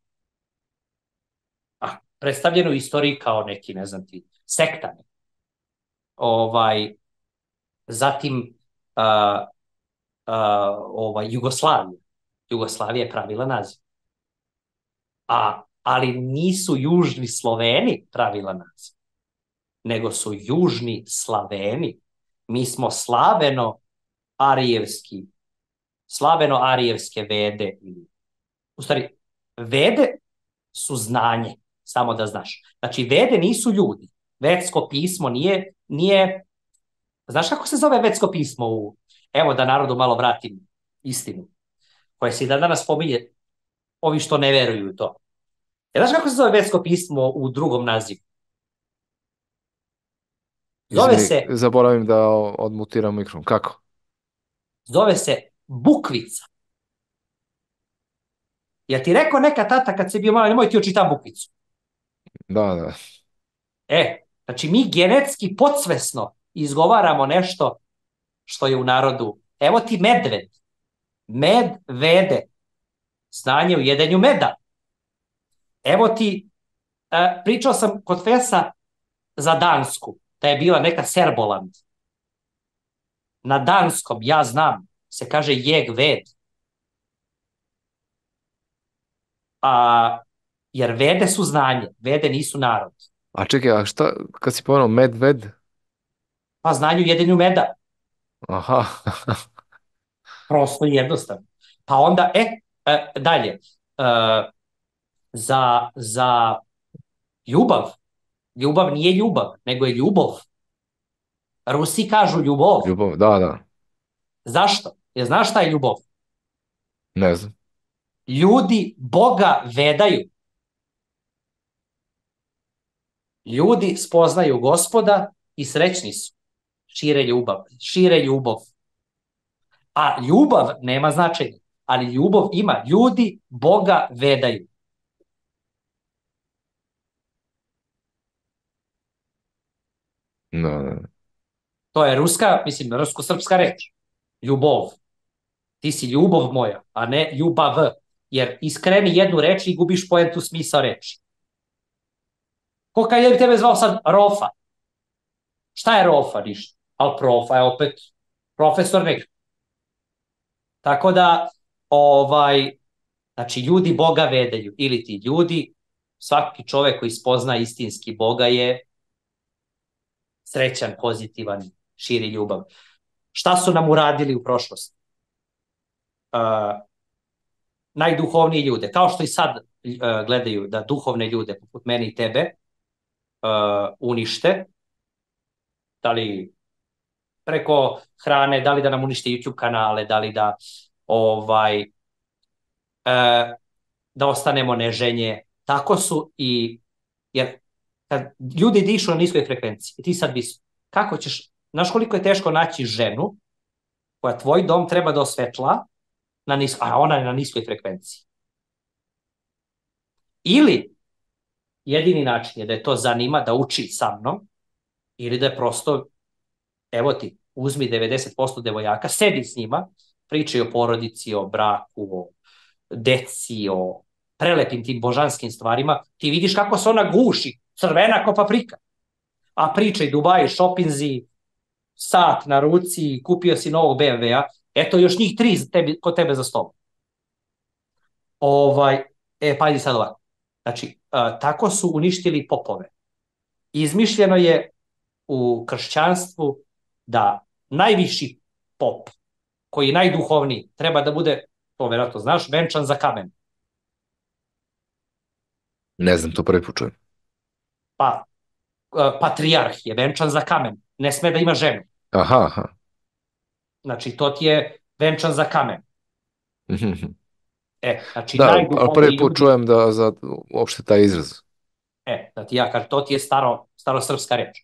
A predstavljeno u istoriji kao neki, ne znam ti, sektani. Ovaj, zatim a, a, ovaj, Jugoslavija. Jugoslavija je pravila naziv. A, ali nisu južni Sloveni pravila naziv, nego su južni Slaveni. Mi smo slaveno-arijevski, slaveno-arijevske vede. U stvari, vede su znanje, samo da znaš. Znači, vede nisu ljudi. Vedsko pismo nije, nije... Znaš kako se zove vedsko pismo? U... Evo da narodu malo vratim istinu, koje se i da danas spominje ovi što ne veruju u to. E, znaš kako se zove vedsko pismo u drugom nazivu? Zove Izvini, se, zaboravim da odmutiram mikrofon. Kako? zove se bukvica. Jel ti rekao neka tata kad si bio malo, nemoj ti očitam bukvicu? Da, da. E, znači mi genetski podsvesno izgovaramo nešto što je u narodu. Evo ti medved. Med, vede. Znanje u jedenju meda. Evo ti, e, pričao sam kod Fesa za Dansku, da je bila neka Serboland. Na danskom, ja znam, se kaže jeg ved. A, jer vede su znanje, vede nisu narod. A čekaj, a šta, kad si pomenuo medved? Pa znanje u jedenju meda. Aha. Prosto i jednostavno. Pa onda, e, e dalje, e, za, za ljubav, ljubav nije ljubav, nego je ljubov. Rusi kažu ljubov. Ljubav, da, da. Zašto? Jer znaš šta je ljubav? Ne znam. Ljudi Boga vedaju. Ljudi spoznaju Gospoda i srećni su. Šire ljubav, šire ljubav. A ljubav nema značenja, ali ljubav ima. Ljudi Boga vedaju. No, no. To je ruska, mislim, rusko-srpska reč. Ljubov. Ti si ljubav moja, a ne ljubav. Jer iskreni jednu reč i gubiš poentu smisao reči. Ko kad je bi tebe zvao sad Rofa? Šta je Rofa? Ništa. Ali profa je opet profesor nek. Tako da, ovaj, znači, ljudi Boga vedaju. Ili ti ljudi, svaki čovek koji spozna istinski Boga je srećan, pozitivan, širi ljubav. Šta su nam uradili u prošlosti? Uh, najduhovniji ljude, kao što i sad uh, gledaju da duhovne ljude, poput mene i tebe, uh, unište, da li preko hrane, da li da nam unište YouTube kanale, da li da ovaj uh, da ostanemo neženje, tako su i, jer kad ljudi dišu na niskoj frekvenciji, ti sad visok, kako ćeš, znaš koliko je teško naći ženu koja tvoj dom treba da osvetla, na nis, a ona je na niskoj frekvenciji. Ili jedini način je da je to zanima, da uči sa mnom, ili da je prosto, evo ti, uzmi devedeset posto devojaka, sedi s njima, pričaj o porodici, o braku, o deci, o prelepim tim božanskim stvarima, ti vidiš kako se ona guši, crvena ko paprika. A pričaj Dubai, šopinzi, sat na ruci, kupio si novog be em ve-a, eto još njih tri tebi, kod tebe za stol. Ovaj, e, pa idi sad ovako. Znači, a, tako su uništili popove. Izmišljeno je u kršćanstvu da najviši pop, koji je najduhovniji, treba da bude, to vjerojatno znaš, venčan za kamen. Ne znam, to prvi put čujem. Pa, a, patrijarh je venčan za kamen. Ne sme da ima ženu. Aha, aha. Znači, to ti je venčan za kamen. E, znači, Da, ali najduhovniji prvi put ljudi... čujem da za uopšte taj izraz. E, da ti ja kažem, to ti je staro, starosrpska reč.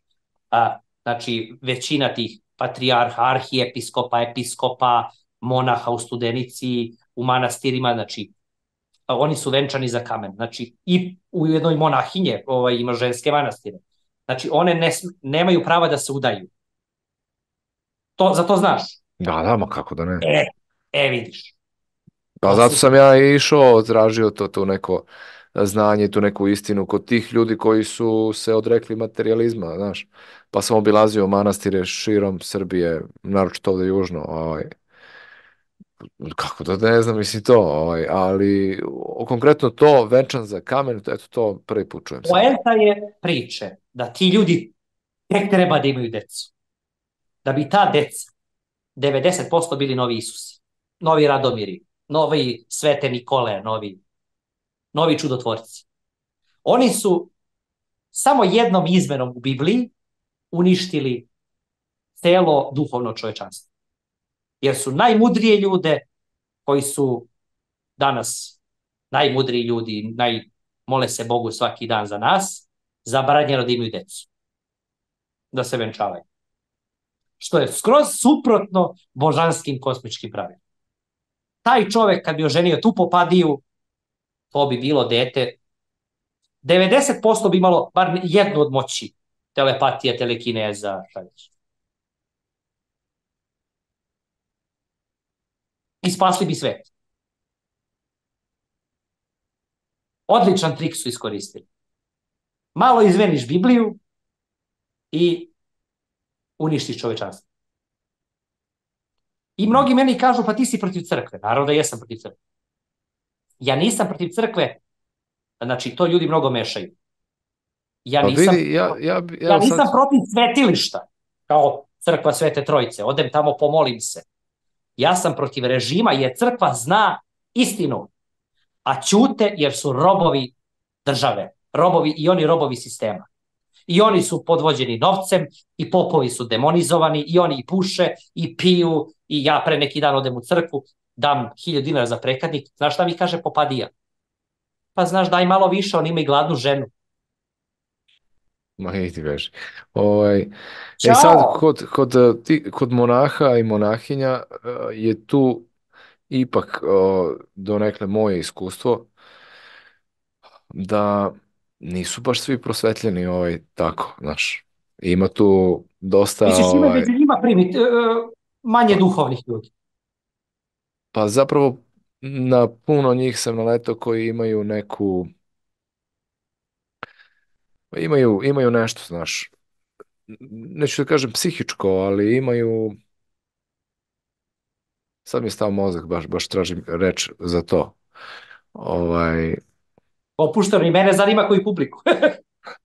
A, znači, većina tih patrijarha, arhijepiskopa, episkopa, monaha u Studenici, u manastirima, znači, oni su venčani za kamen. Znači, i u jednoj monahinje ovaj, ima ženske manastire. Znači, one ne, nemaju prava da se udaju. To, za to znaš? Da, da, ma kako da ne. E, e vidiš. Pa zato sam ja išao, tražio to, to neko znanje, tu neku istinu kod tih ljudi koji su se odrekli materializma, znaš. Pa sam obilazio manastire širom Srbije, naročito ovde južno, ovaj. Kako da ne znam, mislim to, ovaj, ali o, konkretno to, venčan za kamen, eto to prvi put čujem sad. Poenta je priče da ti ljudi tek treba da imaju decu. Da bi ta deca devedeset posto bili novi Isusi, novi Radomiri, novi Svete Nikole, novi, novi čudotvorci. Oni su samo jednom izmenom u Bibliji uništili celo duhovno čovečanstvo. Jer su najmudrije ljude koji su danas najmudriji ljudi, naj, mole se Bogu svaki dan za nas, zabranjeno da imaju decu. Da se venčavaju. Što je skroz suprotno božanskim kosmičkim pravilima. Taj čovek kad bi oženio tu popadiju, to bi bilo dete, devedeset posto bi imalo bar jednu od moći, telepatija, telekineza, šta već. I spasli bi svet. Odličan trik su iskoristili. Malo izmeniš Bibliju i uništiš čovečanstvo. I mnogi meni kažu, pa ti si protiv crkve. Naravno da jesam protiv crkve. Ja nisam protiv crkve, znači to ljudi mnogo mešaju. Ja nisam, pa vidi, ja, ja, ja, ja nisam sad... protiv svetilišta, kao crkva Svete Trojice. Odem tamo, pomolim se. Ja sam protiv režima jer crkva zna istinu, a ćute jer su robovi države. Robovi i oni robovi sistema. I oni su podvođeni novcem i popovi su demonizovani i oni i puše i piju i ja pre neki dan odem u crkvu, dam hiljadu dinara za prekadnik. Znaš šta mi kaže popadija? Pa znaš, daj malo više, on ima i gladnu ženu. Ma i ti veš. Ovaj, e sad, kod, kod, ti, kod monaha i monahinja je tu ipak donekle moje iskustvo da nisu baš svi prosvetljeni ovaj, tako, znaš. Ima tu dosta... Misliš, ima ovaj, među njima primit, manje duhovnih ljudi? Pa zapravo na puno njih sam naletao koji imaju neku... Imaju, imaju nešto, znaš. Neću da kažem psihičko, ali imaju... Sad mi je stao mozak, baš, baš tražim reč za to. Ovaj... Opušteno, i mene zanima koji publiku.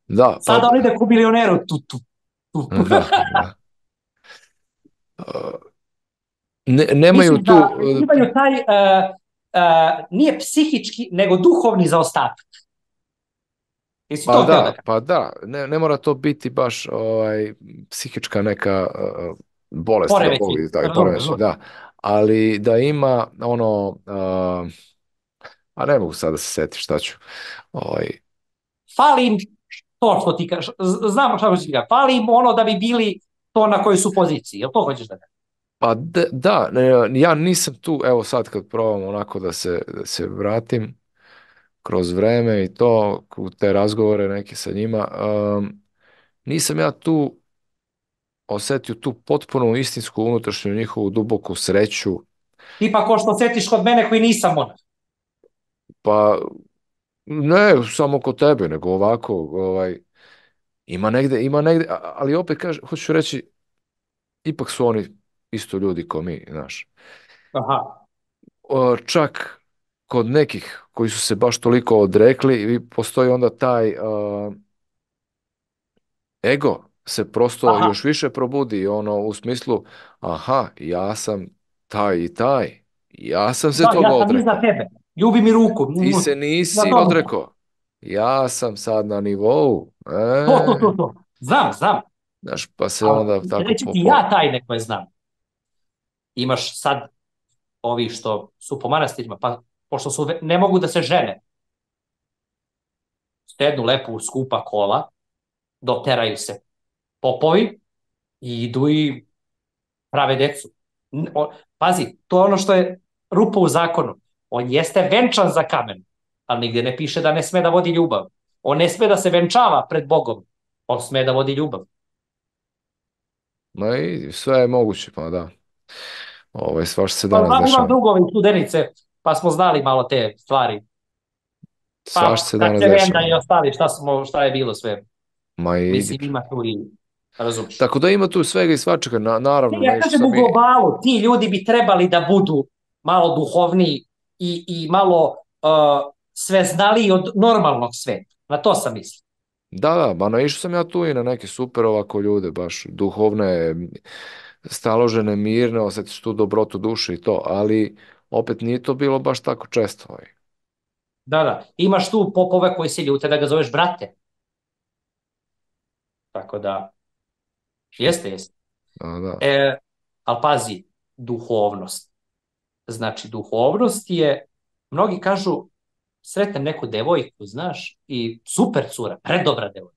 Da, Sada pa... on ide ku milioneru. Tu, tu, tu, tu. Da, da. Ne, nemaju Mislim tu... da imaju taj, uh, uh, nije psihički, nego duhovni zaostatak. Jesi Pa to htio da da, kažem? pa da, ne, ne mora to biti baš ovaj, psihička neka uh, bolest, da Poremećaj, Bog vidi, taj razumem, poremećaj, razumem. da. Ali da ima ono, uh, a ne mogu sad da se setim šta ću. Ovaj, Fali im to što ti kažeš, znamo šta hoćeš ti kažeš, fali im ono da bi bili to na kojoj su poziciji, jel to hoćeš da kažeš? pa de- da, ne, ja nisam tu, evo sad kad probam onako da se, da se vratim kroz vreme i to, u te razgovore neke sa njima, um, nisam ja tu osetio tu potpuno istinsku unutrašnju njihovu duboku sreću. Tipa ko što setiš kod mene koji nisam monah. Pa ne samo kod tebe, nego ovako, ovaj, ima negde, ima negde, a- ali opet kaže, hoću reći, ipak su oni isto ljudi kao mi, znaš. Aha. O, čak kod nekih koji su se baš toliko odrekli, i postoji onda taj a, ego se prosto Aha. još više probudi, ono, u smislu, aha, ja sam taj i taj, ja sam se Da, toga ja sam iza odrekao. tebe. Ljubi mi ruku. Ti se Na nisi tomu. odrekao. Ja sam sad na nivou. To, to, to, E, to. Znam, znam. znaš, pa se Ali onda tako reći po, ti po... ja tajne koje znam. Imaš sad ovi što su po manastirima, pa pošto su, ne mogu da se žene, stednu lepu skupa kola, doteraju se popovi i idu i prave decu. N- o- Pazi, to je ono što je rupa u zakonu. On jeste venčan za kamen, ali nigdje ne piše da ne sme da vodi ljubav. On ne sme da se venčava pred Bogom, on sme da vodi ljubav. Ma i sve je moguće, pa da. Ovaj, svašta se Pa danas znam, imam dešava. drugove i studenice, pa smo znali malo te stvari. Svašta Pa se danas Kačevenda dešava. i ostali, šta, smo, šta je bilo sve. Ma idi. Mislim, ima tu i, razumiješ. Tako da ima tu svega i svačega, na, Ne, naravno, ja naišli kažem sam u mi, globalu, ti ljudi bi trebali da budu malo duhovniji i, i malo uh, sveznaliji od normalnog sveta. Na to sam mislio. da, da, ba naišao sam ja tu i na neke super ovako ljude, baš duhovne, staložene, mirne, osjetiš tu dobrotu duše i to, ali opet nije to bilo baš tako često. Ovaj. Da, da. Imaš tu popove koji se ljute da ga zoveš brate. Tako da, jeste, jeste. Da, da. E, ali pazi, duhovnost. Znači, duhovnost je, mnogi kažu, sretnem neku devojku, znaš, i super cura, predobra devojka.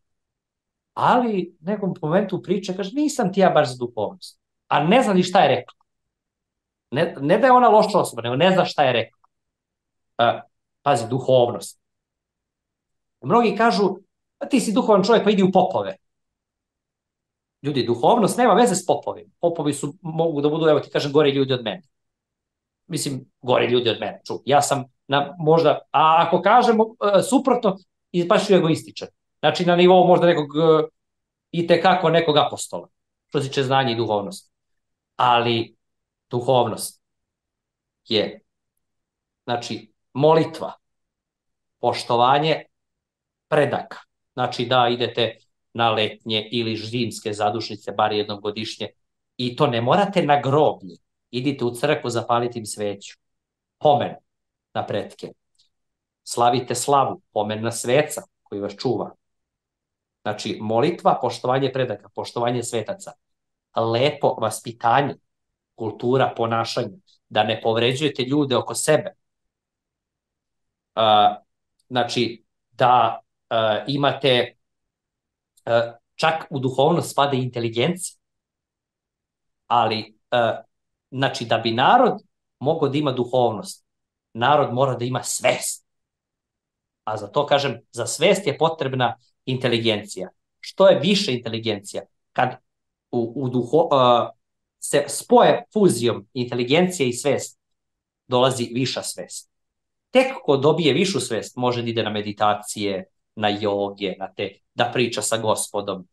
Ali nekom momentu priče kaže, nisam ti ja baš za duhovnost. A ne zna ni šta je rekla. Ne, ne da je ona loša osoba, nego ne zna šta je rekla. E, pazi, duhovnost. Mnogi kažu, ti si duhovan čovjek, pa idi u popove. Ljudi, duhovnost nema veze s popovima. Popovi su, mogu da budu, evo ti kažem, gori ljudi od mene. Mislim, gori ljudi od mene. Ču, ja sam na, možda, a ako kažemo uh, suprotno, baš ću egoističan. Znači, na nivou možda nekog uh, i tekako nekog apostola, što se tiče znanja i duhovnost. Ali duhovnost je, znači, molitva, poštovanje predaka. Znači, da idete na letnje ili zimske zadušnice, bar jednom godišnje, i to ne morate na groblje. Idite u crkvu, zapalite im sveću. Pomen na pretke. Slavite slavu, pomen na sveca koji vas čuva. Znači, molitva, poštovanje predaka, poštovanje svetaca. Lepo vaspitanje, kultura ponašanja, da ne povređujete ljude oko sebe. Uh, znači, da uh, imate, uh, čak u duhovnost spada inteligencija, ali, uh, znači, da bi narod mogao da ima duhovnost, narod mora da ima svest. A za to, kažem, za svest je potrebna inteligencija. Što je više inteligencija? Kad u, u duho, uh, se spoje fuzijom inteligencije i svest, dolazi viša svest. Tek ko dobije višu svest, može da ide na meditacije, na joge, na te, da priča sa Gospodom,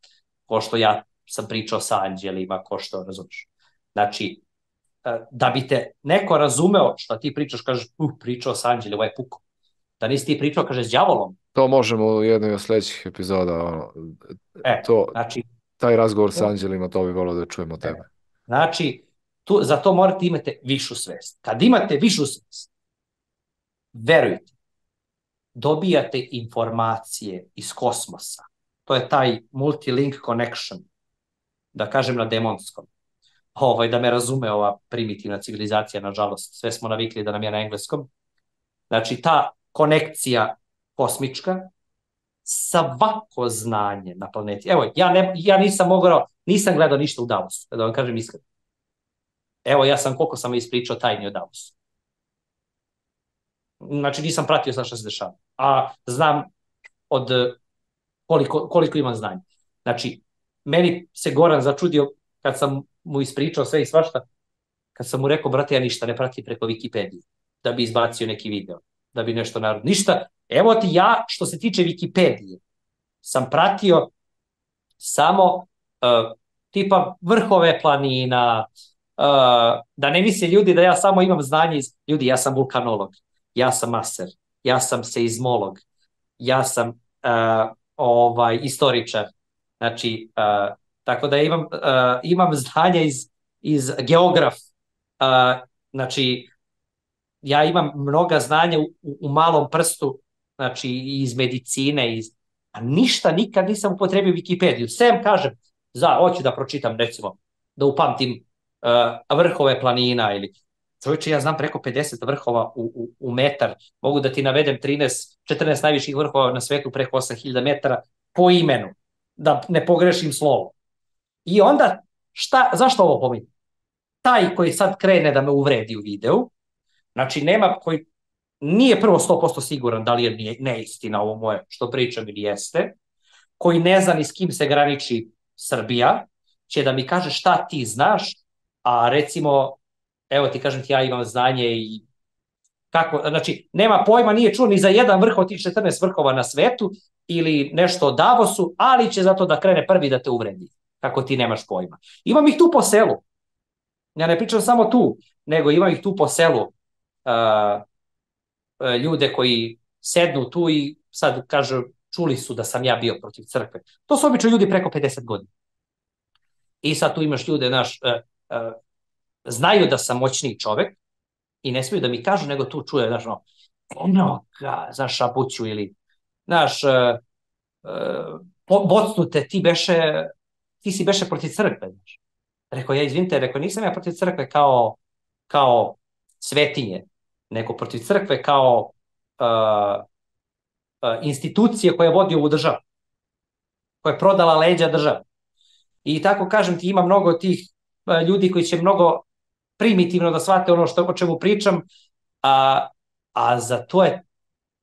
ko što ja sam pričao sa anđelima, ko što, razumiješ. Znači, da bi te neko razumeo što ti pričaš, kažeš, uh, pričao sa anđelima, ovo je puko. Da nisi ti pričao, kaže, s đavolom. To možemo u jednoj od sljedećih epizoda, ono, E, to, znači, taj razgovor sa anđelima, to bi volio da čujemo tebe. E, znači, tu, za to morate imati višu svest. Kad imate višu svest, verujte, dobijate informacije iz kosmosa. To je taj multilink connection, da kažem na demonskom. Ovaj, da me razume ova primitivna civilizacija, nažalost, sve smo navikli da nam je na engleskom. Znači, ta konekcija kosmička, svako znanje na planeti. Evo, ja, ne, ja nisam mogao, nisam gledao ništa u Davosu, da vam kažem iskreno. Evo, ja sam, koliko sam ispričao tajni o Davosu. Znači, nisam pratio sa što se dešava. A znam od koliko, koliko imam znanja. Znači, meni se Goran začudio kad sam mu ispričao sve i svašta, kad sam mu rekao, brate, ja ništa ne pratim preko Wikipedije, da bi izbacio neki video, da bi nešto narod. Ništa. Evo ti ja, što se tiče Wikipedije, sam pratio samo uh, tipa vrhove planina, uh, da ne misle ljudi da ja samo imam znanje iz... Ljudi, ja sam vulkanolog, ja sam maser, ja sam seizmolog, ja sam uh, ovaj, istoričar. Znači, uh, tako da imam, uh, imam znanje iz, iz geograf. Uh, znači, ja imam mnoga znanja u, u malom prstu, znači iz medicine, iz... a ništa nikad nisam upotrebio Wikipediju. Sem kažem, za, hoću da pročitam, recimo, da upamtim uh, vrhove planina ili... Čovječe, ja znam preko pedeset vrhova u, u, u metar. Mogu da ti navedem trinaest, četrnaest najviših vrhova na svetu preko osam hiljada metara po imenu, da ne pogrešim slovo. I onda, šta, zašto ovo pominjem? Taj koji sad krene da me uvredi u videu, znači nema koji, nije prvo sto posto siguran da li je neistina ovo moje što pričam ili jeste, koji ne zna ni s kim se graniči Srbija, će da mi kaže šta ti znaš, a recimo, evo ti kažem ti, ja imam znanje i kako, znači, nema pojma, nije čuo ni za jedan vrh od tih četrnaest vrhova na svetu ili nešto o Davosu, ali će zato da krene prvi da te uvredi, kako ti nemaš pojma. Imam ih tu po selu. Ja ne pričam samo tu, nego imam ih tu po selu. Uh, ljude koji sednu tu i sad kažu, čuli su da sam ja bio protiv crkve. To su obično ljudi preko pedeset godina. I sad tu imaš ljude, naš, uh, uh, znaju da sam moćniji čovek i ne smiju da mi kažu, nego tu čuje, znaš, no, ono, znaš, šapuću ili, znaš, uh, uh, bocnute, ti beše, ti si beše protiv crkve, znaš. Rekao, ja izvinite, rekao, nisam ja protiv crkve kao, kao svetinje, nego protiv crkve kao uh, uh, institucije koja vodi ovu državu, koja je prodala leđa države. I tako kažem ti, ima mnogo tih uh, ljudi koji će mnogo primitivno da shvate ono što, o čemu pričam, a, a za to je,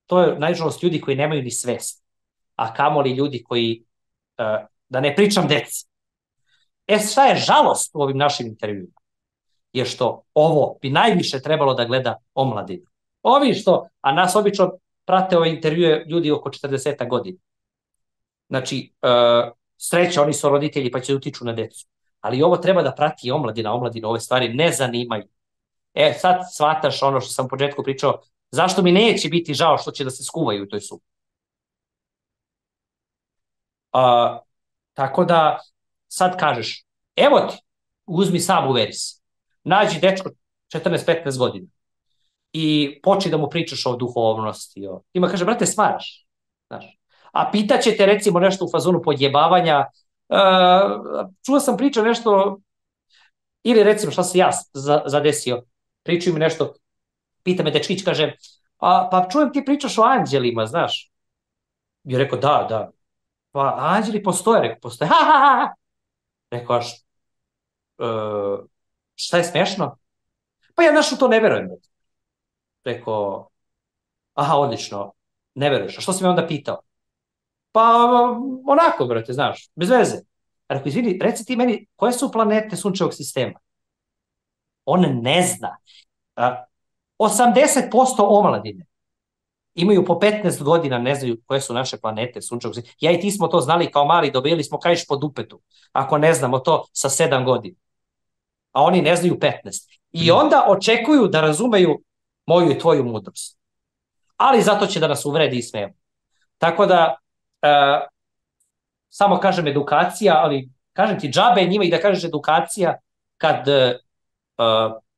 to je nažalost ljudi koji nemaju ni svest, a kamoli ljudi koji, uh, da ne pričam deci. E, šta je žalost u ovim našim intervjuima? Je što ovo bi najviše trebalo da gleda omladina. Ovi što, a nas obično prate ove intervjue ljudi oko četrdeset godina. Znači, uh, sreća, oni su roditelji pa će utiču na decu. Ali ovo treba da prati i omladina, omladina ove stvari ne zanimaju. E, sad shvataš ono što sam u početku pričao, zašto mi neće biti žao što će da se skuvaju u toj supi. Uh, tako da, sad kažeš, evo ti, uzmi sam uveri se. Nađi dečko četrnaest petnaest godina i počni da mu pričaš o duhovnosti. O... Ima kaže, brate, smaraš. Znaš. A pitaće te recimo nešto u fazonu podjebavanja. Uh, čuo sam priča nešto, ili recimo šta se ja zadesio. Pričaju mi nešto, pita me dečkić, kaže, a, pa čujem ti pričaš o anđelima, znaš. I rekao, da, da. Pa anđeli postoje, rekao, postoje. Ha, ha, ha. Rekao, aš, uh, šta je smešno? Pa ja znaš u to ne verujem. Rekao, aha, odlično, ne veruješ. A što si me onda pitao? Pa onako, brate, znaš, bez veze. Rekao, izvini, reci ti meni, koje su planete sunčevog sistema? On ne zna. osamdeset posto omladine imaju po petnaest godina, ne znaju koje su naše planete sunčevog sistema. Ja i ti smo to znali kao mali, dobili smo kajš po dupetu, ako ne znamo to sa sedam godina. A oni ne znaju petnaest. I onda očekuju da razumeju moju i tvoju mudrost. Ali zato će da nas uvredi i smijemo. Tako da, e, samo kažem edukacija, ali kažem ti džabe njima i da kažeš edukacija kad e,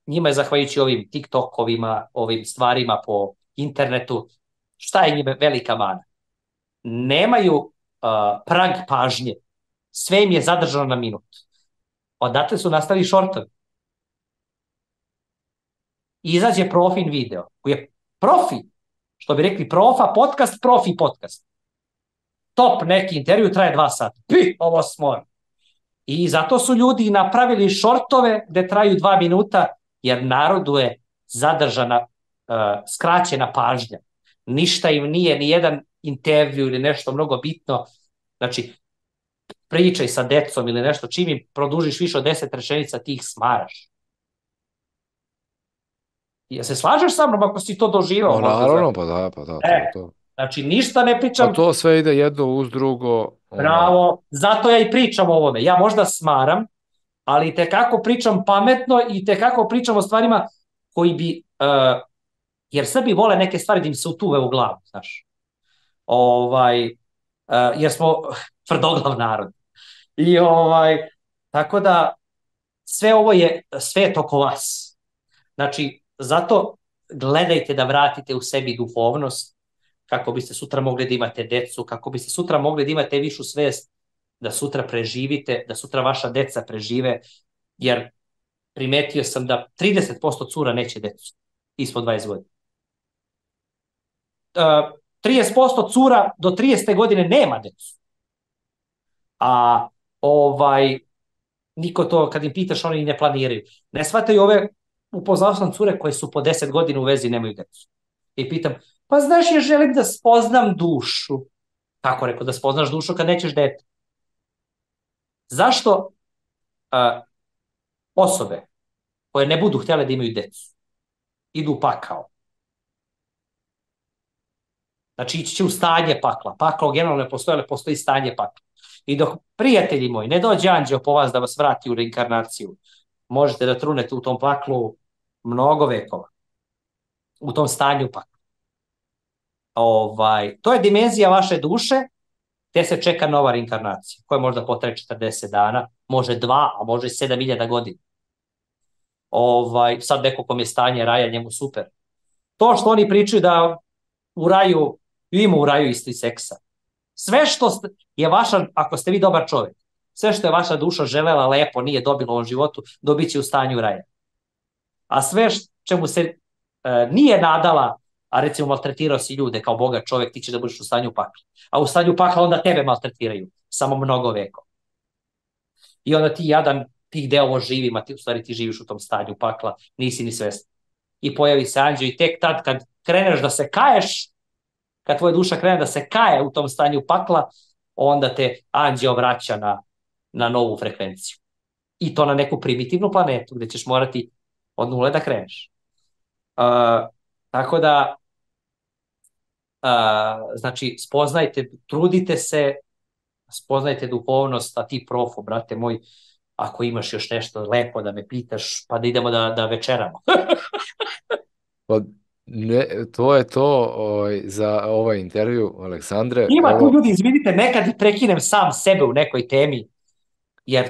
njima je zahvaljujući ovim TikTokovima, ovim stvarima po internetu, šta je njima velika mana? Nemaju e, prag pažnje. Sve im je zadržano na minut. Odatle su nastali šortovi. Izađe profin video, koji je profi, što bi rekli profa podcast, profi podcast. Top neki intervju traje dva sata. Pi, ovo smor. I zato su ljudi napravili šortove gde traju dva minuta, jer narodu je zadržana, uh, skraćena pažnja. Ništa im nije, ni jedan intervju ili nešto mnogo bitno. Znači, pričaj sa decom ili nešto, čim im produžiš više od deset rečenica, ti ih smaraš. Ja se slažeš sa mnom ako si to doživao? No, naravno, pa da, pa da. E, to, to. Znači, ništa ne pričam. Pa to sve ide jedno uz drugo. Bravo, ono... zato ja i pričam o ovome. Ja možda smaram, ali tekako pričam pametno i tekako pričam o stvarima koji bi, uh, jer Srbi vole neke stvari da im se utuve u glavu, znaš. Ovaj, uh, jer smo tvrdoglav narod. I ovaj, tako da, sve ovo je svet oko vas. Znači, zato gledajte da vratite u sebi duhovnost, kako biste sutra mogli da imate decu, kako biste sutra mogli da imate višu svest, da sutra preživite, da sutra vaša deca prežive, jer primetio sam da trideset posto cura neće decu ispod dvadeset godina. Uh, trideset posto cura do tridesete godine nema decu. A ovaj, niko to, kad im pitaš, oni ne planiraju. Ne shvataju ove, upoznao sam cure koje su po deset godina u vezi i nemaju decu. I pitam, pa znaš, ja želim da spoznam dušu. Kako rekao, da spoznaš dušu kad nećeš dete? Zašto a, osobe koje ne budu htjele da imaju decu idu u pakao? Znači, ići će u stanje pakla. Pakao generalno ne postoji, ali postoji stanje pakla. I dok, prijatelji moji, ne dođe anđeo po vas da vas vrati u reinkarnaciju, možete da trunete u tom paklu mnogo vekova. U tom stanju pakla. Ovaj, to je dimenzija vaše duše, gde se čeka nova reinkarnacija, koja možda potraje četrdeset dana, može dva, a može sedam hiljada godina. Ovaj, sad neko kom je stanje raja, njemu super. To što oni pričaju da u raju, ima u raju isto i seksa. Sve što je vaša, ako ste vi dobar čovjek, sve što je vaša duša želela lepo, nije dobila u ovom životu, dobit će u stanju raja. A sve čemu se e, nije nadala, a recimo maltretirao si ljude kao bogat čovjek, ti će da budeš u stanju pakla. A u stanju pakla onda tebe maltretiraju, samo mnogo veko. I onda ti jadan, ti gde ovo živim, a ti u stvari ti živiš u tom stanju pakla, nisi ni svestan. I pojavi se anđeo i tek tad kad kreneš da se kaješ, kad tvoja duša krene da se kaje u tom stanju pakla, onda te anđeo vraća na, na novu frekvenciju. I to na neku primitivnu planetu gde ćeš morati od nule da kreneš. Uh, tako da, uh, znači, spoznajte, trudite se, spoznajte duhovnost, a ti profo, brate moj, ako imaš još nešto lepo da me pitaš, pa da idemo da, da večeramo. Pa ne, to je to ovaj, za ovaj intervju, Aleksandre. Ima Evo, tu ljudi, izvinite, nekad i prekinem sam sebe u nekoj temi, jer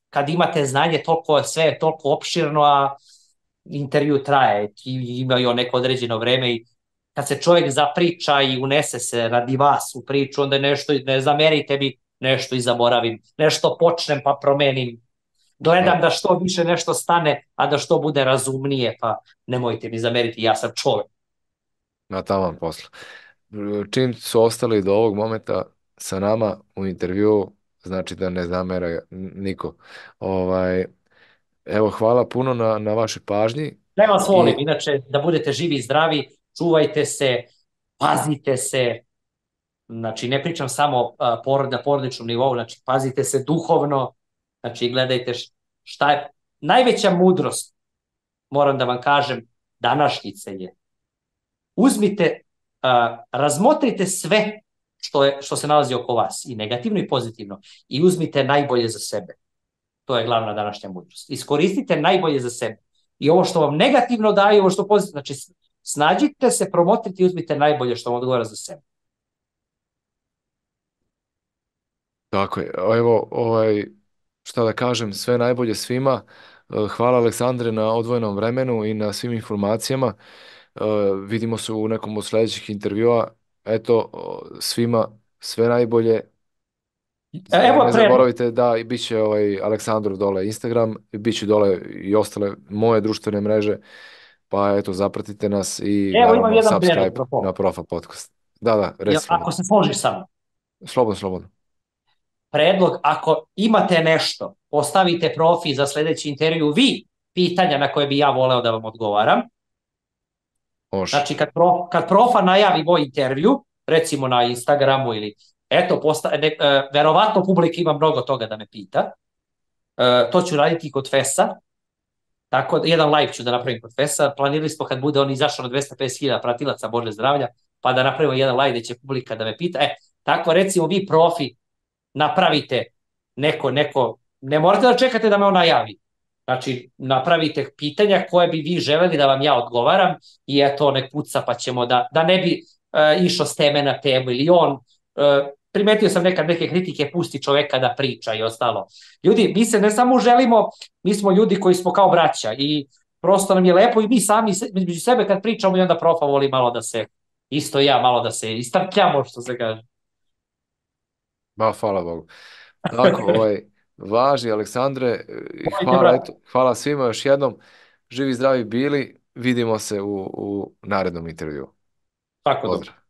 kad imate znanje, toliko, sve je toliko opširno, a intervju traje, imaju neko određeno vreme i kad se čovjek zapriča i unese se radi vas u priču, onda nešto, ne zamerite mi, nešto i zaboravim, nešto počnem pa promenim, gledam da što više nešto stane, a da što bude razumnije, pa nemojte mi zameriti, ja sam čovjek. na taman poslu. Čim su ostali do ovog momenta sa nama u intervju, znači da ne zamera niko. Ovaj, evo, hvala puno na, na vašoj pažnji. Ne vas volim, I inače, da budete živi i zdravi, čuvajte se, pazite se, znači ne pričam samo uh, porod, na porodičnom nivou, znači pazite se duhovno, znači gledajte šta je najveća mudrost, moram da vam kažem, današnjice je. Uzmite, uh, razmotrite sve što, je, što se nalazi oko vas, i negativno i pozitivno, i uzmite najbolje za sebe. To je glavna današnja mudrost. Iskoristite najbolje za sebe. I ovo što vam negativno daje, ovo što pozitivno, znači snađite se, promotrite i uzmite najbolje što vam odgovara za sebe. tako je. Evo, ovaj, šta da kažem, sve najbolje svima. Hvala, Aleksandre, na odvojenom vremenu i na svim informacijama. Uh, vidimo se u nekom od sljedećih intervjua. Eto, svima sve najbolje. Evo Ne predlog. zaboravite da bit će ovaj Aleksandrov dole Instagram, bit će dole i ostale moje društvene mreže, pa eto, zapratite nas i Evo imam naravno jedan predlog. subscribe na Profa podcast. Da, da, reci Ako slobodno. se složiš sa mnom. Slobodno, slobodno. Predlog, ako imate nešto, postavite profi za sljedeći intervju, vi pitanja na koje bi ja voleo da vam odgovaram. Može. Znači, kad, pro, kad profa najavi moj intervju, recimo na Instagramu ili, eto, posta, ne, e, verovatno publika ima mnogo toga da me pita. E, to ću raditi kod Fesa. Tako da, jedan live ću da napravim kod Fesa. Planirali smo kad bude on izašao na dvesta pedeset hiljada pratilaca, Bože zdravlja, pa da napravimo jedan live gde će publika da me pita. E, tako recimo vi profi napravite neko, neko, ne morate da čekate da me on najavi. Znači, napravite pitanja koje bi vi želeli da vam ja odgovaram i eto, nek puca pa ćemo da, da ne bi uh, išao s teme na temu ili on, uh, primetio sam nekad neke kritike, pusti čoveka da priča i ostalo. Ljudi, mi se ne samo želimo, mi smo ljudi koji smo kao braća i prosto nam je lepo i mi sami među sebe kad pričamo i onda profa voli malo da se, isto ja, malo da se istrpljamo, što se kaže. Ba, hvala Bogu. Tako, ovaj, važi, Aleksandre, i Volite, hvala, brate. eto, hvala svima još jednom. Živi, zdravi bili, vidimo se u, u narednom intervju. Tako dobro. Pozdrav.